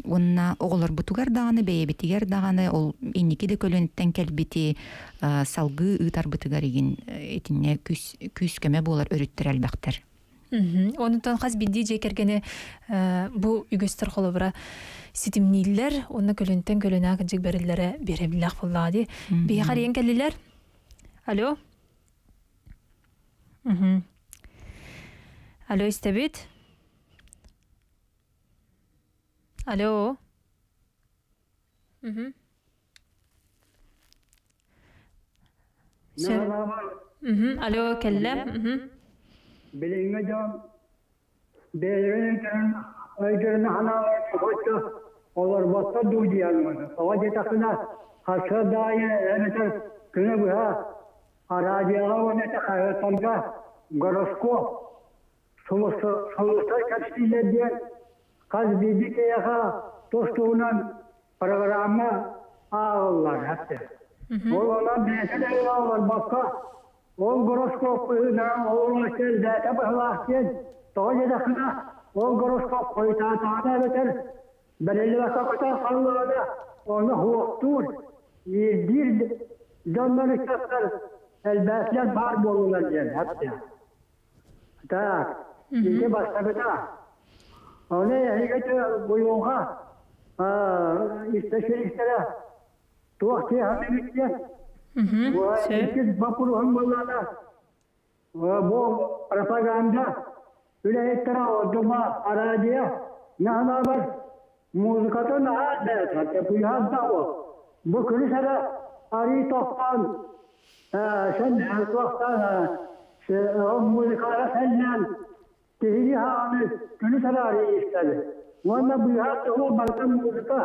Онна оҕолор бутугар даҕаны, бэйэбитигэр даҕаны, ол инники де көлөнттен кэлбити салгыы ыытарбытыгар игин итинне күс күс көмө буолар өрүттэр элбэхтэр. Онутан хас бидди же кергене бу үгөстөр холобура ситимнииллер, онна көлөнтөн көлөнө кыжык бериллере беребиллах буллаа ди. Биһи харыйан кэллилер. Алло. Алло, истебит? Алло. Мгм. Мгм. Алло, келлем. Мгм. Билиңе жон бэйэрин өйдөрүн ханааларын хоччо олор ботта дуудиялманы. Ова жетакына хаса дайы эметер күнө быһа арадиаға онета хайатанга гороскоп сулуста качтилер диэн хас биирди киһиэхэ тостуунан программа ааҕыллар хатта. Ол онон бэйэтин олорбокко ол гороскоп олорун бэйэтэ быһылаах диэн тоҕо диэтэххинэ ол гороскоп хойутаатаҕына эбэтэр бэриллибэккэ көтөн хааллаҕына ону хуохтуур биир дьоннор ыччаттар элбээтлэр баар буолулар диэн хатта. Так, ити бастакыта. Оны эһиги буйуҥха истэширистэрэ туох тиэхэммит диэн. Иккис боппуруоһум буоллаҕына бу пропаганда үлэһиттэрэ ордума арадио наһанаабар музыкатын наһаа бэрт пуйаһас да бу күнүс эрэ арыы тохтоон сен туохтаан музыкалара сэллээн киһини хааны күнүс эрэ арыы истэбит. Уонна быыһаат туһу барыта музыка.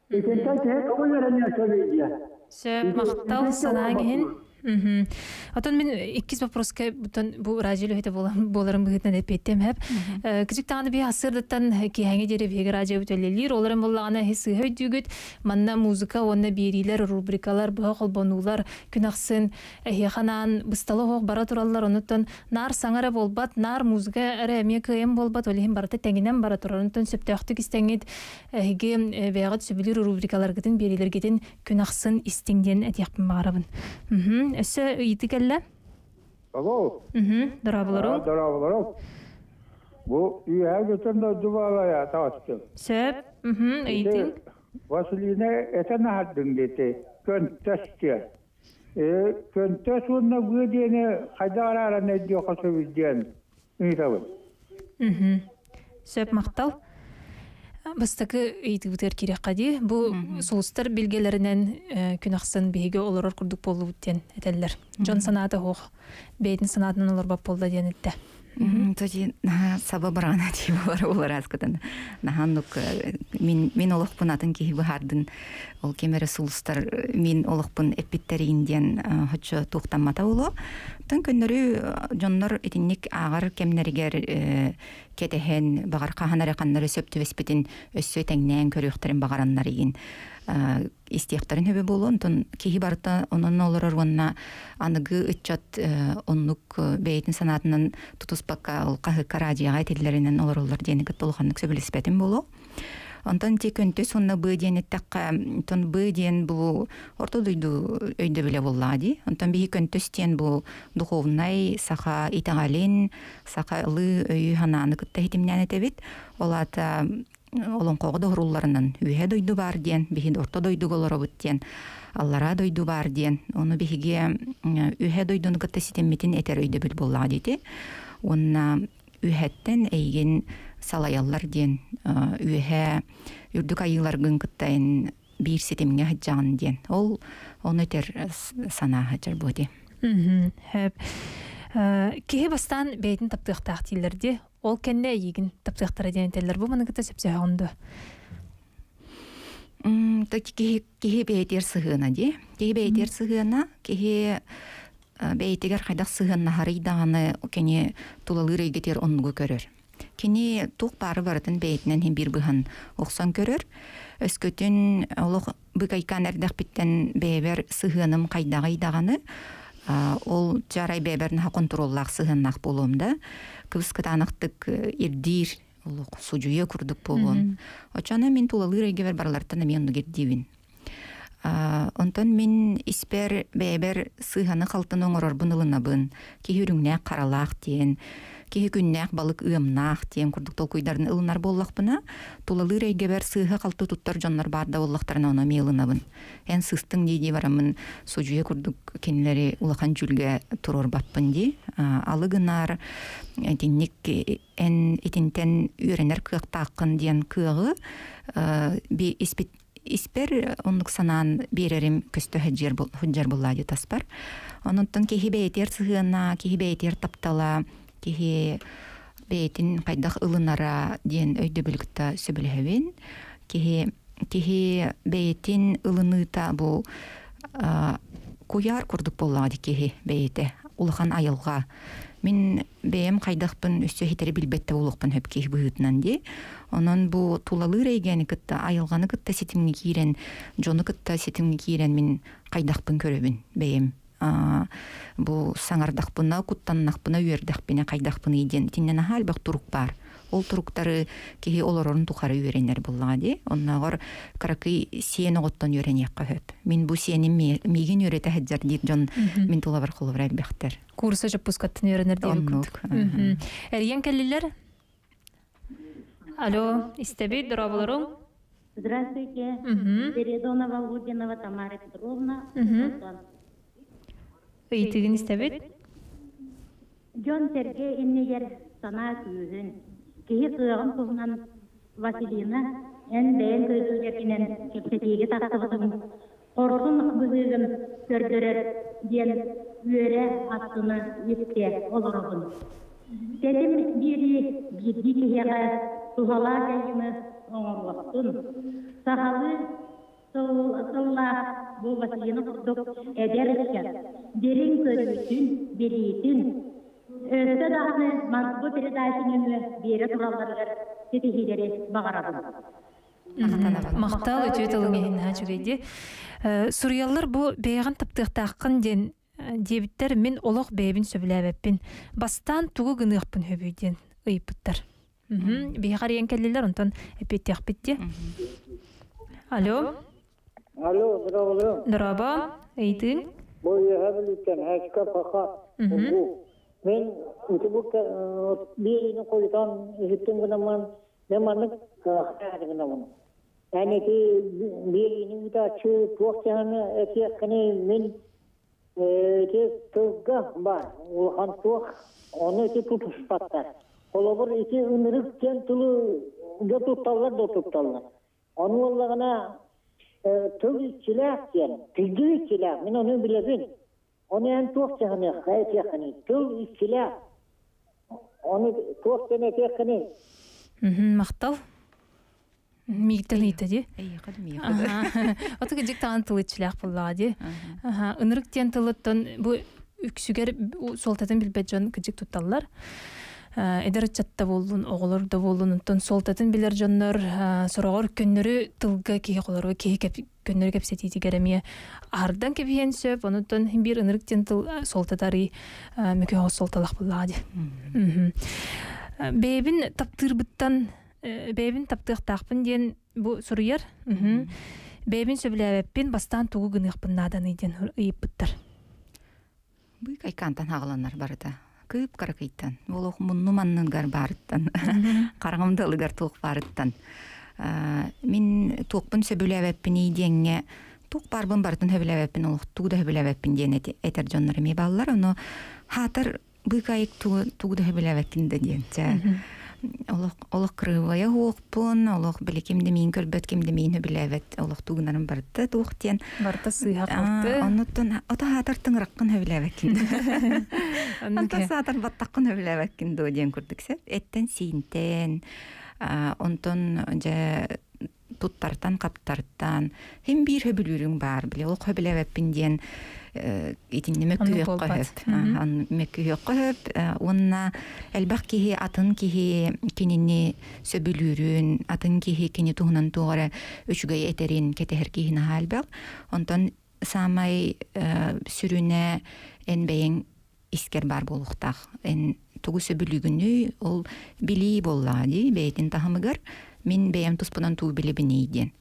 Итинтэн киһи тоҕу үөрэниэн сөбүй диэн. Сөп, махтал санаа киһин. Отон мин иккис вопроска бутан бу радио лөһөтө боларын быһытынан эппеттем хеп. Кичик таганы би асырдыттан киһәңе дере биһиги радио бүтөлелир, оларын боллагана хисы хөйдүгүт, манна музыка онна берилер, рубрикалар, быха холбонулар, күнахсын, эхиханан бысталы хох бара тураллар, онуттан нар саңара болбат, нар музыка эре эме кыйым болбат, олихин барата теңинен бара турар, онуттан сөптөктүк истеңит, эһиги бэйгат сөбүлүр рубрикалар гытын берилер гитин күнахсын истиңден этияқпын бағарабын. Өссө ыйты келле? Алло. Мхм, дорабыларым. Дорабыларым. Бу үйә götüm de dubala taastı. Сөп, мхм, ыйтың. Василина этен хаддың дети. Көнтөстө. Э, көнтөс онна бу дине кайда арара не дио косо диен. Ыйтабы. Мхм. Сөп мактал. Бастакы ыйтыбытыр кирек кади. Бу сулустар билгелеринен күнахсын биһиге олорор курдук болду диэн этеллер. Жон санаата хох. Бейтин санаатынан олор бап болду диэн этте. Тоди саба барана ти бар олар аскытан. Наханнук мин мин олохпун атын киһи быһардын. Ол кемере сулустар мин олохпун эппиттерин диэн хочо туохтаммата боло. Тын көннөрү дьоннор итинник ааҕар кэмнэригэр кетэһэн багар хаһанары ханнары сөп түбэспитин өссө тэҥнээн көрүөхтэрин багараннар игин истиэхтэрин хөбө болу. Онтон киһи барыта онон олорор уонна аныгы ыччат оннук бэйэтин санаатынан тутуспакка ол хаһыкка радиоҕа этиллэринэн олороллор диэни кытта улаханнык сөбүлэспэтин болу. Онтон ти көнтөс онна бы диэн эттакка, онтон бы диэн бу орто дойду өйдө биле боллаа ди. Онтон биһи көнтөс диэн бу духовнай саха итагалин, саха ылы өйү ханааны кытта хитимнән этебит. Олата олонкого дохрулларынан үһэ дойду бар диэн, биһи орто дойду голоробут диэн, аллара дойду бар диэн, ону биһиге үһэ дойдуну кытта ситеммитин этер өйдө бил боллаа дити. Онна үһэттен эйген салаяллар диэн, үһэ үрдүк айыыларгын кыттайын биир ситимҥэ хаджаҕын диэн. Ол ону этер санаа хаджар буоти. Хэп. Киһи бастан бэйтин таптыахтаах дииллэр ол кэннэ эйигин таптыахтара диэн этэллэр. Бу маны кытта сөпсөһөҕүндө. Та киһи киһи бэйтер сыһыана ди. Киһи бэйтер сыһыана, киһи бэйтигэр хайдах сыһыанна харыйдаҕаны кини тулалыыр эйгетер оннугу көрөр. Кини туох баары барытын бэйтинэн хин бир быһан охсон көрөр. Өскөтүн олох быкайкан эрдэхпиттен бэйбер сыһыаным хайдаҕыйдаҕаны ол жарай бэберин ха контроллаах сыһыаннаах болуом да. Кыбыс кытаанахтык ирдиир олох судьуя курдук болуом. Очона мин тулалыыр эйгебер баралартан эми оннук ирдиибин. Онтон мин испер бэйбер сыһаны халтын оҥорорбун ылынабын. Киһи үрүҥнээх харалаах диэн, киһи күннээх балык ыамнаах диэн курдук толкуйдарын ылынар буоллахпына, тулалыыр эйгэбэр сыыһа халты туттар дьоннор баарда буоллахтарына ону эмиэ ылынабын. Эн сыстыҥ дии дии бараммын судьуя курдук кинилэри улахан дьүлгэ туруорбаппын дии. Алы гынаар итинник эн итинтэн үөрэнэр кыахтааххын диэн кыаҕы би испит испер оннук санаан биэрэрим көстө хаджар буллаа ди таспар. Ононтон киһи бэйэтиэр сыһыана, киһи бэйэтиэр таптала, киһи бэйэтин хайдах ылынара диэн өйдөбүлүкта сөбүлэһэбин. Киһи киһи бэйэтин ылыныыта бу куяр курдук боллаа ди киһи бэйэтэ улахан айылга. Мин бэйэм хайдахпын өссө хитери билбетте улукпун хөп киһи быһыытынан ди. Онон бу тулалыыр эйгэни кытта, айылганы кытта ситимҥи киирэн, дьону кытта ситимҥи киирэн мин хайдахпын көрөбүн бэйэм. Бу саҥардахпына, куттаннахпына, үөрдэхпинэ, хайдахпын диэн итиннэн аһаа элбэх турук бар. Ол туруктары киһи олорорун тухары үөрэнэр буллаҕа ди. Оннооҕор каракый сиэн оҕоттон үөрэниэххэ хөп. Мин бу сиэним миигин үөрэтэ хаджар диир дьон мин тулабар холобура элбэхтэр. Курса жаппускаттын үөрэнэр диэн курдук. Эрийэн кэллилэр? Алло, истэбит, дорооболоруҥ? Здравствуйте. Передонова Лудинова Тамара Петровна. Ыйтыгын истэбит? Дьон Сергей иннигэр санаа күүһүн. Киһи кыаҕын туһунан Василина эн бэйэн көйгүлэринэн кэпсэтиигэ тахсыбытын хорсун быһыыгын көрдөрөр диэн үөрэ астына истэ олоробун. Тэтим биири биирдии киһиэхэ туһалаах дьайыыны оҥоруохтун. Сахалыы тыллаах бу Василина курдук эдэр ыччат дириҥ көрүүтүн, билиитин өссө даҕаны бу передача нөҥүө биэрэ туралларыгар ситиһиилэри баҕарабын. Махтал үтүө тылыҥ иһин наһаа үчүгэй. Суруйаллар бу бэйэҕин таптыахтааххын диэн диэбиттэр, мин олох бэйэбин сөбүлээбэппин. Бастаан тугу гыныахпын хөбүй диэн ыйыппыттар. Биһиэхэ арыйан кэллилэр, онтон эппиэттиэхпит дии. Алло. Алло, здорово. Дорообо, ыйытыың? Бу үөһэ Бүлүүттэн Хэчка Паха Угу. Мен ити бу биэрини хойутан иһиттим гынаммын, мен маннык кыахтаах гынаммын. Эн ити биэрини ыытааччы туох дьаһаны этиэххиний, мин ити тылга бар улахан туох, ону ити тутуспаттар. Холобур, ити ынырык диэн тылы да тутталлар да тутталлар. Ону буоллаҕына тыл иччилээх диэн, кырдьык иччилээх, мин ону билэбин. Ону эн туох дьаһаныахха этиэххиний, тыл иччилээх. Ону туох диэн этиэххиний? Махтал. Мииттен ыйта дии. Эйиэхэ да миэхэ да. Оту кыдьык таҕан тыл иччилээх буоллаҕа дии. Ынырык диэн тылыттан бу үксүгэр суолтатын билбэт дьон кыдьык тутталлар. Эдэр ыччатта буоллун, оҕолор да буоллун, онтон суолтатын билэр дьоннор сороҕор көннөрү тылга киһи холору киһи көннөрү кэпсэтиитигэр эмиэ аһардан кэбиһиэн сөп, онуттан биир ынырык диэн тыл суолтатарый мөкө суолталах буоллаҕа дии. Бэйэбин таптыырбыттан бэйэбин таптыахтаахпын диэн бу суруйар. Бэйэбин сөбүлээбэппин, бастаан тугу гыныахпын нааданый диэн ыйыппыттар. Быыкайкаантан хаҕаланар барыта. Кыып каракыйтан, олох мунну манныгар барыттан, караҥым туох барыттан. Мин туохпун сөбүлээбэппин диэҥҥэ туох барбын барытын сөбүлээбэппин, олох тугу да сөбүлээбэппин диэн этэр дьоннор эмиэ бааллар. Ону хаатар быыкайык тугу да сөбүлээбэккин да диэн. Олох олох кырыыбайа хуохпун, олох били ким да миин көрбөт, ким да миин хөбүлээбэт, олох тугунарын барыта туох диэн. Барыта сыыһа халты. Оннуттан ото хаатар тыҥыраккын хөбүлээбэккин. Онтон саатар баттаккын хөбүлээбэккин доо диэн курдук сеп. Эттен сиинтен, онтон дьэ туттартан каптартан хим биир хөбүлүүрүҥ бар били олох хөбүлээбэппин диэн итинни мөккүһүөххө хөп. Мөккүһүөххө хөп. Уонна элбэх киһи атын киһи кинини сөбүлүүрүн, атын киһи кини туһунан туоҕара үчүгэй этерин кетеһэр киһини хаалбак. Онтон саамай сүрүнэ эн бэйэҥ искер бар болуктах. Эн тугу сөбүлүүгүнүй ол билии боллаҕа дии бэйэтин таһымыгар мин бэйэм туспунан туу билибиний диэн.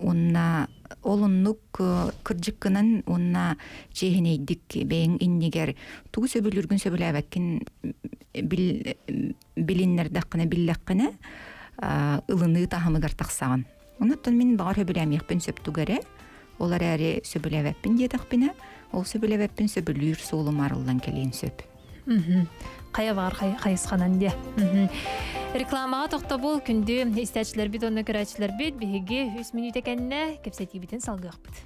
Уонна олуннук кырдьыккынан уонна чиэһинэйдик бэйэҥ иннигэр тугу сөбүлүүргүн сөбүлээбэккин билиннэрдэххинэ биллэххинэ ылыныы таһымыгар тахсаҕын. Онуттан мин баҕар сөбүлээмиэхпин сөп тугэрэ, ол эрээри сөбүлээбэппин диэтэхпинэ, ол сөбүлээбэппин сөбүлүүр суолум арыллан кэлиэн сөп. Хайа бар хайысханан де. Рекламаға тоқтобул күндү истәчилер бит, онно көрәчилер бит, биһиги үс мүнүүтэ кэннэ кэпсэтиибитин салгыахпыт.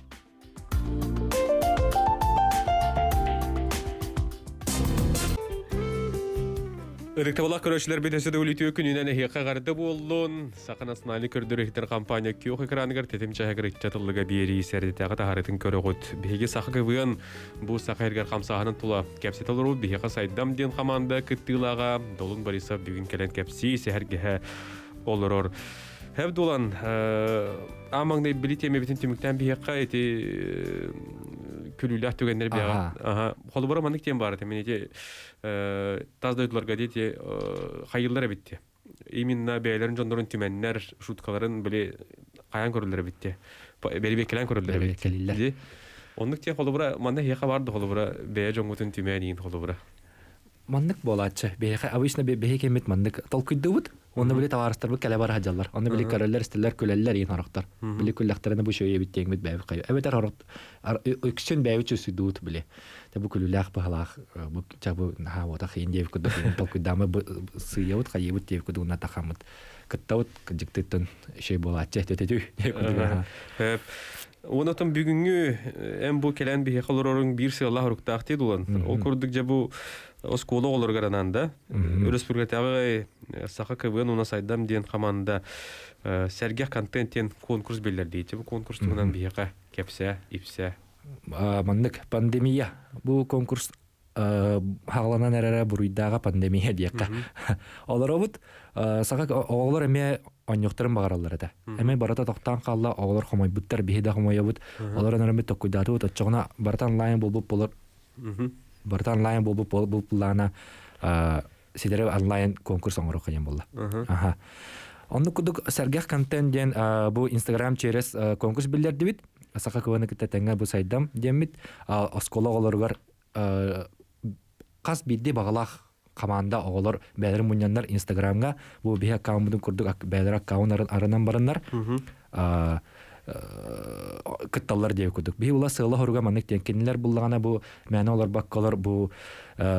Ырыктабалах көрөшілер бетесі дөөлүтүө күнүнэн эһиэхэ гарды буоллун. Саха национальный көрдөрөр иһитэр компания күөх экраныгар тетим чаһыгар ыччатыллыга биэрии сэрдитээҕи таһарытын көрөҕүт. Биһиги саха кывыан бу саха эргэр хамсааһынын тула кэпсэтэ олоруу биһиэхэ сайдам диэн команда кыттыылааҕа Долун Борисов бүгүн кэлэн кэпсии сэһэргэһэ олорор. Хэв дулан амаңнай били темебитин түмүктэн биһиэхэ эти күлүүлээх түгэннэр биэҕэ. Аха. Холобура маннык тем бар мен эти таз дойдуларга дети хайыллар эбитти. Именно бэйэлэрин дьоннорун түмэннэр шуткаларын били каян көрүллэр эбитти. Бери бекелен көрүллэр эбитти. Оннук те холобура манна хиэхэ барды холобура бэйэ дьоҥҥутун түмэниин холобура. Маннык буолааччы. Бэйэхэ обычно бэйэ кеммит маннык толкуйдубут. Онно били товарыстарбыт кэлэ бар хаджаллар. Онно били көрөллөр, истеллер, күлэллэр иин хорохтор. Били күллэхтерине бу шөйө биттиэҥмит бэйэбит кайы. Эбэтэр хорот өксүн бэйэбит чөсүйдуут били. Те бу күлүлээх быһалаах бу чабы наха вота хыйын диэбит курдук толкуйдаамы сыйабыт хайыбыт диэбит курдук уна тахаммыт. Кыттабыт кыдьыктыттан шөй буолааччы тететүй. Онотон бүгүнгү эм бу келен бихе холорорун бир сыалла хуруктаах дулан. Ол курдук же бу оскола олор гарананда. Өрөспүргэтагы саха КВН уна сайдам диэн команда сәргэх контент диэн конкурс беллер дейти. Бу конкурс тугунан бихе кепсе, ипсе. Маннык пандемия. Бу конкурс хагаланан эрere буруйдага пандемия диэкка. Олоробут саха оҕолор эме онньохторун багараллар этэ. Эме барата тохтаан хаалла оҕолор хомойбуттар биһи да хомойобут. Олор өнөрөмүт токкуйдаатыбыт оччоҕуна барата онлайн болбут болор. Барата онлайн болбут болбут сидere онлайн конкурс оҥоро кыйын болла. Аха. Онну кудук сэргэх контент диэн бу Инстаграм через конкурс биллердибит. Саха КВН кытта тэҥҥэ бу сайдам диэммит. Оскола оҕолоругар қас бидди бағалах команда оҕолор бээлер мунньаннар Инстаграмга бу биһи аккаунтун курдук бээлер аккаунт арынан бараннар кытталлар диэбит курдук. Биһи ула сыала хоруга маннык диэн кинилэр буллагана бу мээнэ олор баккалар бу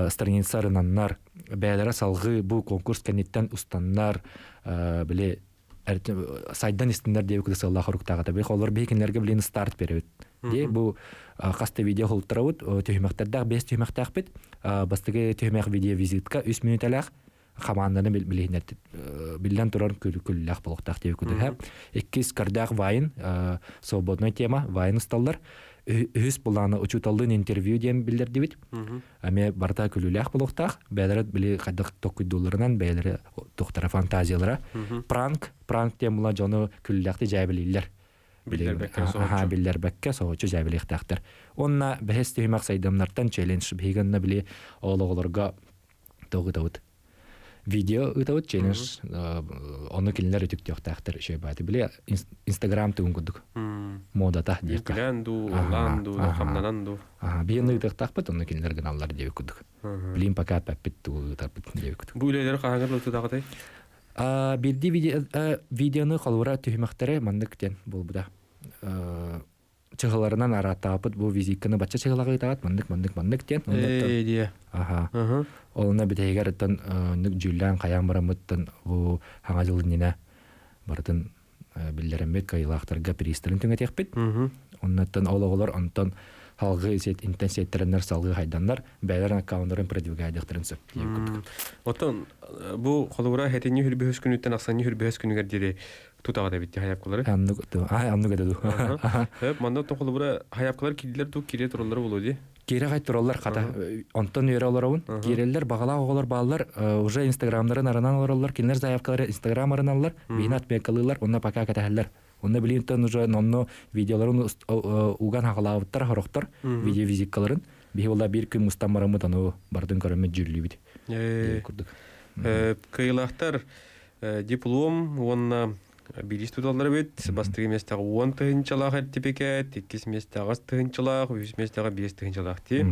страница арынаннар бээлере салгы бу конкурс кэнниттэн устаннар биле сайдан истиннер диэбит курдук сыала хоруктаҕата. Биһи олор биһи кинилэргэ билин старт беребит. Ди бу хаста видео холтарабыт, түһүмэхтердээх бес түһүмэхтээхпит. Бастыгы түһүмэх видео визитка үс минуталаах команданы билиһинер биллэн турар күллээх болуктаах диэбит курдук. Иккис көрдөөх вайн, свободная тема, вайн усталлар. Үһүс булааны учуталлын интервью диэн биллердибит. Эме барта күлүүлээх болуктаах, бээлere били хайдах токкуйдууларынан, бээлere тохтара фантазиялара. Пранк, пранк диэн була дьону күлүүлээхти жаабилииллер. Аха, биллербекке соочу жаабилиэхтээхтэр. Онна бэһэс түһүмэх сайдамнартан челлендж биһиганна били оолоҕолорго тоҕутабыт. Видео ытабыт челлендж, ону кинилэр үтүктүөхтээхтэр шөйбааты. Били Инстаграм тугун курдук. Модата диэкка. Күлэн ду, улаан ду, хамнанан ду. Аха, биһиэнэ ытыахтаахпыт, ону кинилэр гыналлар диэбит курдук. Билин пока паппит тугу ытарбыт диэбит курдук. Бу үлэлэр хаһаҥар лутутаҕатай? Бирди видеоны холура түһүмэхтэре маннык диэн буолбута. Чыгыларынан арааттаапыт бу визитканы бачча чыгылаҕы ытаат маннык маннык маннык диэн. Ээ диэ. Аха. Олуна битэйгэр ыттан нүк дьүүллээн хайаан бараммыттан бу хаҥа дьылыннина барытын биллереммит кайылаахтарга приистерин түҥэтиэхпит. Оннуттан ол оҕолор онтон халгы сет интенсиеттериннер салгы хайданнар бээлерин аккаунтарын продвигайдыхтарын сөп диэбит курдук. Оттон бу холура хэтинни хүрбүһүс күнүттэн ахсанни хүрбүһүс күнүгэр диэри тутаҕа битти хаяпкалары. Аннук аннук эдэ ду. Хөп манна оттон холура хаяпкалар килдилер ту кире тураллар болу ди. Кире хай тураллар хата. Онтон үөрэ олоробун. Киреллер багалаах оҕолор бааллар уже инстаграмнарын арынан олороллар. Кинилер заявкалары инстаграм арыналлар. Биһин отметкалыылар, онно пока кэтэһэллэр. Онно билинтен уже нонно видеоларын уган хагалаабыттар хорохтор видео визиткаларын. Биһи ола бир күн мустан бараммыт ану бардын көрөммүт жүрлүбүт. Курдук. Кыйлахтар диплом онна билис туталлар бит, бастыгы местага он тыһынчалаах эртипикет, иккис местага тыһынчалаах, үс местага бес тыһынчалаах ти.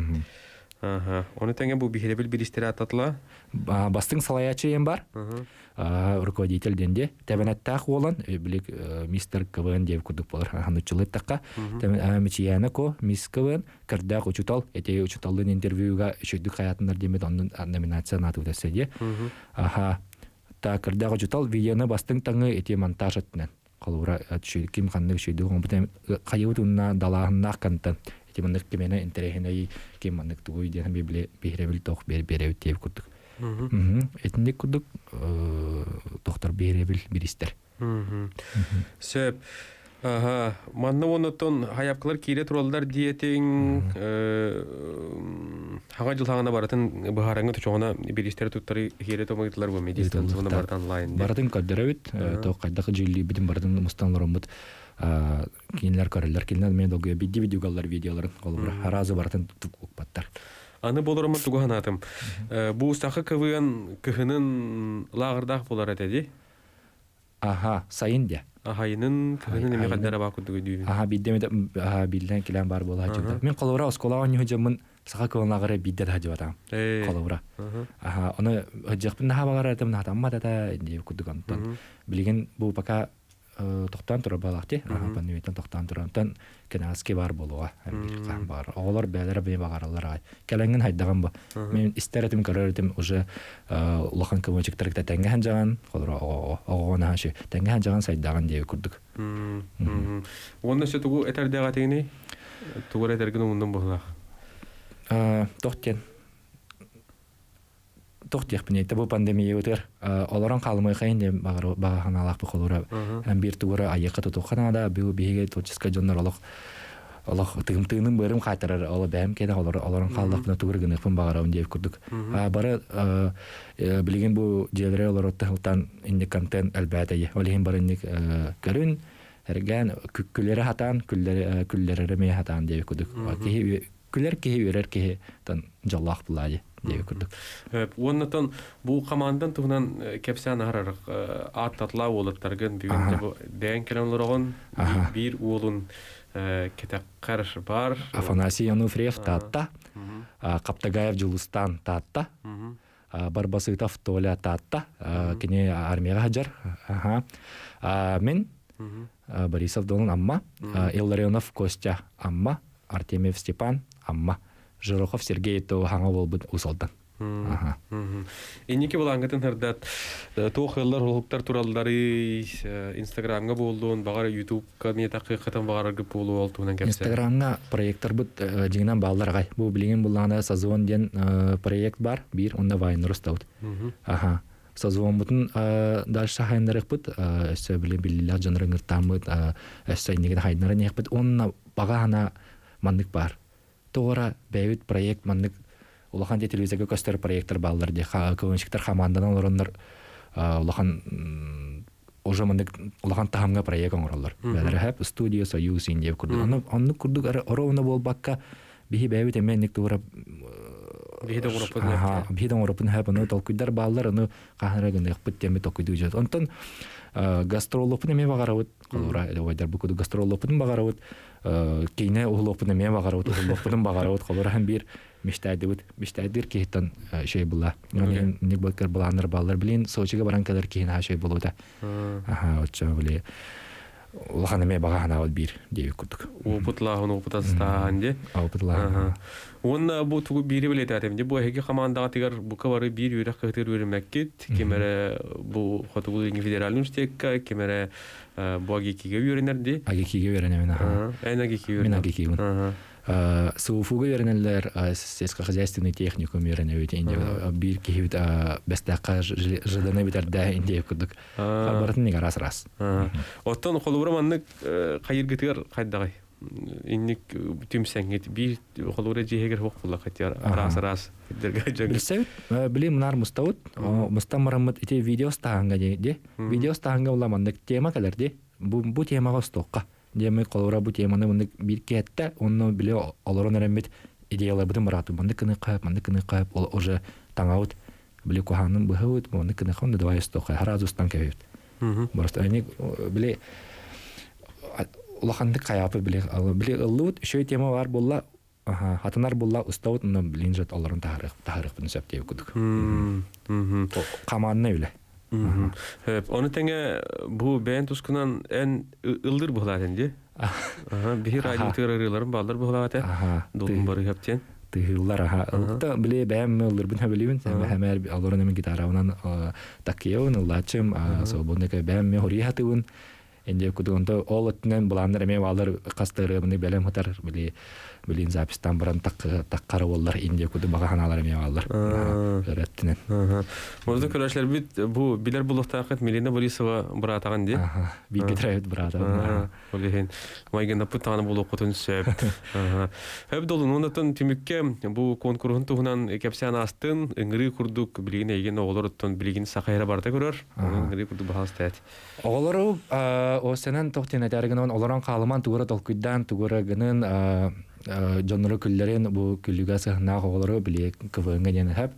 Аха. Оны теңе бу бихеребил билистер ататла. Бастың салаячы ем бар. Руководитель денде. Тебенеттах болан, билик мистер КВН деп курдук болар. Ханучылыттакка. Мичияна ко, мисс КВН, кырдак учутал, эте учуталдын интервьюга шөйдүк хаятындар демет онун номинация наты өтөсөде. Аха. Та кырдак учутал видеоны бастың таңы эте монтаж өттүнөн. Колура ким ханнык шөйдүк оңбутен хайыбыт унна далаһыннаах контент. Эти маннык кимене интерехиней ким маннык тугуй диэн библе биһиребил тох бер беребит диэбит курдук. Этинник курдук тохтор биһиребил биристер. Сөп. Ага, манна онотон хаяпкалар кире туралдар диетин хага жыл хагана баратын бахараңы тучоғына биристер туттары хире томагытлар бу медистанцияны баратын онлайн. Баратын көрдөрөбүт, то кайдакы жүйли битин баратын мустанлар кинилер көрөллөр, кинилер мен долгуя бидди видеогалар видеоларын колубура харазы баратын укпаттар. Аны болорумун тугу ханатым. Бу сахы КВН кыһынын лагырдаах болар этеди. Аха, сайын де. Ахайынын кыһынын эме каддара баа курдук өйдүүбүн. Аха, биддеме аха билден килен бар бола хажыбыта. Мен колубура оскола оньу жамын саха КВН лагыры бидде хажыбатам. Колубура. Аха, оны хажыппын наха багар этем наха тамма тата деп курдук онтон. Билген бу пока Тохтан турар балакти, пандемияттан тохтан турар. Онтон кенааски бар болуга, бир кан бар. Оголор бээлere бей багаралар ай. Келенген хайдаган бу. Мен истер этим, көрөр этим уже улахан көмөчүктөр теңге ханжаган, холор огона хашы теңге ханжаган сайдаган дие курдук. Онна сөтүгү тугу этердега тегини? Тугу этерген умундун булах. Тохтен тохтиях бу пандемия өтер. Олорон калмай хайын де багахан бу холора. Һәм бир тугура айыкка тутуханада бу биге творческий жоннор олох олох тыгым тыгынын бырым кайтарар оло бэм кеде олор олорон калдак бuna тугур гыныпын багарабын деп курдук. Бары билген бу желре олор оттан инде контент албатайы. Олихин бары инде көрүн эрген күллери хатан күллери күллери ме хатан деп курдук. Кихи күлер кихи үрер кихи тан жаллах булади деп курдук. Оннотон бу командан туһунан кепсән харар ат татла болыттаргын бүгүн бу бәйн келен бир уолун кетеккар бар. Афанасий Ануфриев татта, Каптагаев Жулустан татта, Барбасытов Толя татта, кене армияга хаджар. Мен Борисов Долун Амма, Илларионов Костя Амма, Артемьев Степан Амма, Жирохов Сергей то хаңа болбут усалдан. Инники булангытын хырдат тоохыллар холуктар тураллары Инстаграмга болдун, багар Ютубка мен такыйкатын багар гып болу олтуунан кепсе. Инстаграмга проекттар бут жигинен балдар гай. Бу билген булганда Созвон ден проект бар, бир онда вайнер устаут. Аха. Созвон бутун дальше хайнарык бут, өссө биле биллер жанрыңыр тамыт, өссө иннеген хайнары нехбит онна бага хана мандык бар. Тоора бэйбит проект мандык улахан телевизорга көстөр проекттер баллар де көөнчиктер хамандан олороннор улахан уже мындык улахан тахамга проект оңороллор. Бәлер хэп студия союз индиев курдук. Аны аны курдук оровна болбакка биһи бэйбит эмен тура биһи оңороппун. Биһи оңороппун хэп аны толкуйдар баллар аны кахара гынык бит теме токуйду жот. Онтон гастролопун эме багарабыт. Колура эле ойдар бу куду гастролопун багарабыт. Кейне ухлопун эме багарабыт, ухлопун багарабыт. Колура һәм бир миштайдыбыт. Миштайдыр кейтан шей була. Ник бакыр буланыр баллар билин Сочиге баран кадar кейин шей болута. Аха, отча биле. Улахан эме багахана ол бир деп курдук. Опытлахын опытастаан де. Опытлахын. Онна бу тугу бири билет атем. Бу эги командага тигер бу кабары бир үрәк кытыр үрмәккит. Кемере бу хотугу федераль университетка, кемере бу агикиге үйренерди. Агикиге үйренемен. Аха. Эн агикиге үйренем. Мен агикиге. СУФУга үйренелер, сельскохозяйственный техникум үйренебит, инде бир кихибит бестакка жыданы битерде инде курдук. Баратын неге рас рас. Оттон холубура маннык кайыргытыгар кайдагай. Инник түмсәңгит бир холубура жиһегер хук була катяр рас рас. Билсәбит, били мынар мустаут, мустамарамыт ите видео стаһанга де. Видео стаһанга була маннык тема калерди. Бу бу темага стокка. Деме колора бу теманы мындык бир кетте, онно биле олорон эреммит идеялар бутун барату. Мындык кыны кайып, мындык кыны кайып, ол уже таңаут биле куханын быһыут, мындык кыны кайып, давай стокка, харазустан кебит. Просто они биле улахандык каяпы биле биле ыллыут, еще тема бар болла, аха, хатынар болла устаут, но билин жат олорон тахарык, тахарык бутун сөп деп кудук. Каманны биле. Оны теңе бу бәйін тускунан ән ылдыр бұғылатын де? Бихи радио тырырыларын балдар бұғылаты. Долун бары хаптен. Тыһыллар, аха. Ылта биле бәйін ылдыр бін хәбілібін. Хәмәр алорын әмен гитарауынан таккеуын, ыллачым, свободныка бәйін ме хори хатыбын. Энде кудугунда ол өттүнөн буландар эме балар кастыры мыны белем хатар били билин запистан баран так таккары боллар инде куду бага ханалар эме балар. Өрөттүнөн. Мозду көрөшлөр бит бу билер булуктакыт Милена Борисова братаган ди. Бик кетиребит братаган. Олехин майгына путаны болу кутун сөп. Хөп долун онотон түмүккө бу конкурсун туһунан кепсән астын ыңгыры курдук билигин эген оголор оттон билигин сахайра барда көрөр. Ыңгыры курдук бахастат. Оголору осенен тохтен этәргенен олорон калыман тугура толкуйдан тугура гынын жоннору күллерин бу күллүгө сыһнаах оголору били КВН ден хэп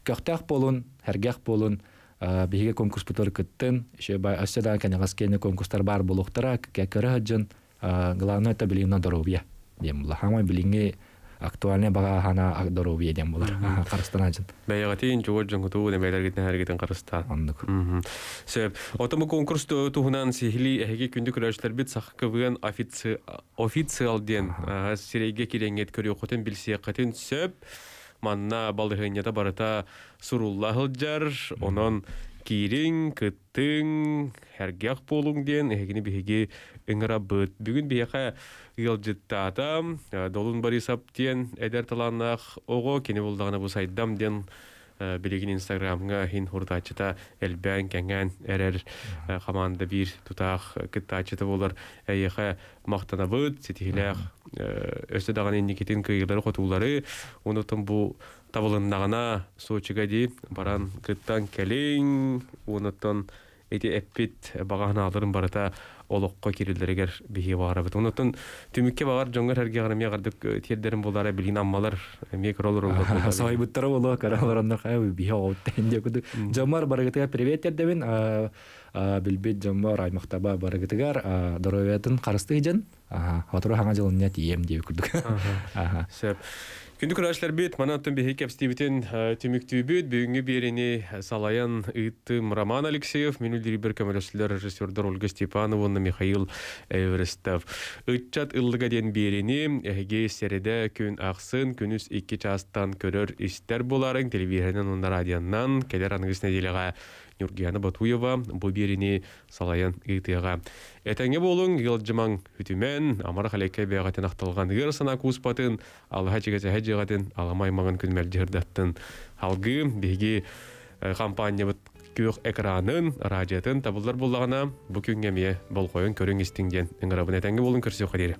көхтөх болун хергэх болун биһиге конкурс бутор кыттын еще бай өссө кенегаскене конкурстар бар болуктара кекөрө жын главное это билин здоровье дем була хамай билинге Актуальный бага хана здоровье дем булар. Карыстан ажын. Бәйгәтин жугар жыңгыту немелер гитен карыстан. Оннук. Сөп. Отому конкурс туһунан сихили эһиги күндү көрөшлөр бит сахкыбыган официал ден сирейге киренгет көрү билсиякатын сөп. Манна балыгынята барыта сурулла хылжар, онон киирин, кыттың, хәргәх болуң ден, эһигини биһиги ыҥырабыт. Бүгүн биһиэхэ ыалдьыттаата, Долун Борисов диэн эдэр талааннаах оҕо, кини булдаҕына бу сайдам диэн билигин Инстаграмҥа хин хурдааччыта элбээн кэҥээн эрэр команда биир тутаах кыттааччыта буолар. Эйиэхэ махтанабыт, ситиһилээх өссө даҕаны инникитин кыйыылары хотуулары, онутун бу табылыннаҕына Сочига дии баран кыттан кэлиҥ, онуттан эти эппит багаһынааларын барыта олоххо кириллэригэр биһиги баарабыт. Онуттан түмүккэ багар дьоҥҥор эргиэҕэр эмиэ гардык тиэрдэрин булара билин аммалар эмиэ көрөлөр олор. Сойбуттара боло каралар хай биһи оттен диэ кудук. Жомар барыгытыга привет тердебин. Билбит жомар аймактаба барыгытыгар здоровьятын карысты жан. Хотуру хаңа жылын тием диэ кудук. Сөп. Күндү көрәшләр бит, мана оттон биһи кэпстибитин түмүктүүбүт, бүгүнгү биэрини салаян ыыттым Роман Алексеев, мен үлдүрүбер көмөлөсүлөр режиссердор Ольга Степанова уонна Михаил Эверестов. Ыччат ыллыга диэн биэрини эһиги середе күн ахсын, күнүс икки частан көрөр истер буларың, телевизорынан уонна радионнан, келер аныгыс неделяга Нюргияна Батуева бу биэрини салаян ыытыаҕа. Этеңе болуң, йылжымаң хүтүмен, амара халекке бэҕэтин ахталган ыыр сана кууспатын, алаһа чигэсэһэ жыгатын, аламай маңын күнмэлдьирдаттын. Халгы биһиги компаниябыт күөх экранын, радиотын табыллар буллагана бу күнгө эмиэ болҕойун көрүҥ истиҥ диэн ыҥырабын. Этеңге болуң, көрсүөххэ диэри.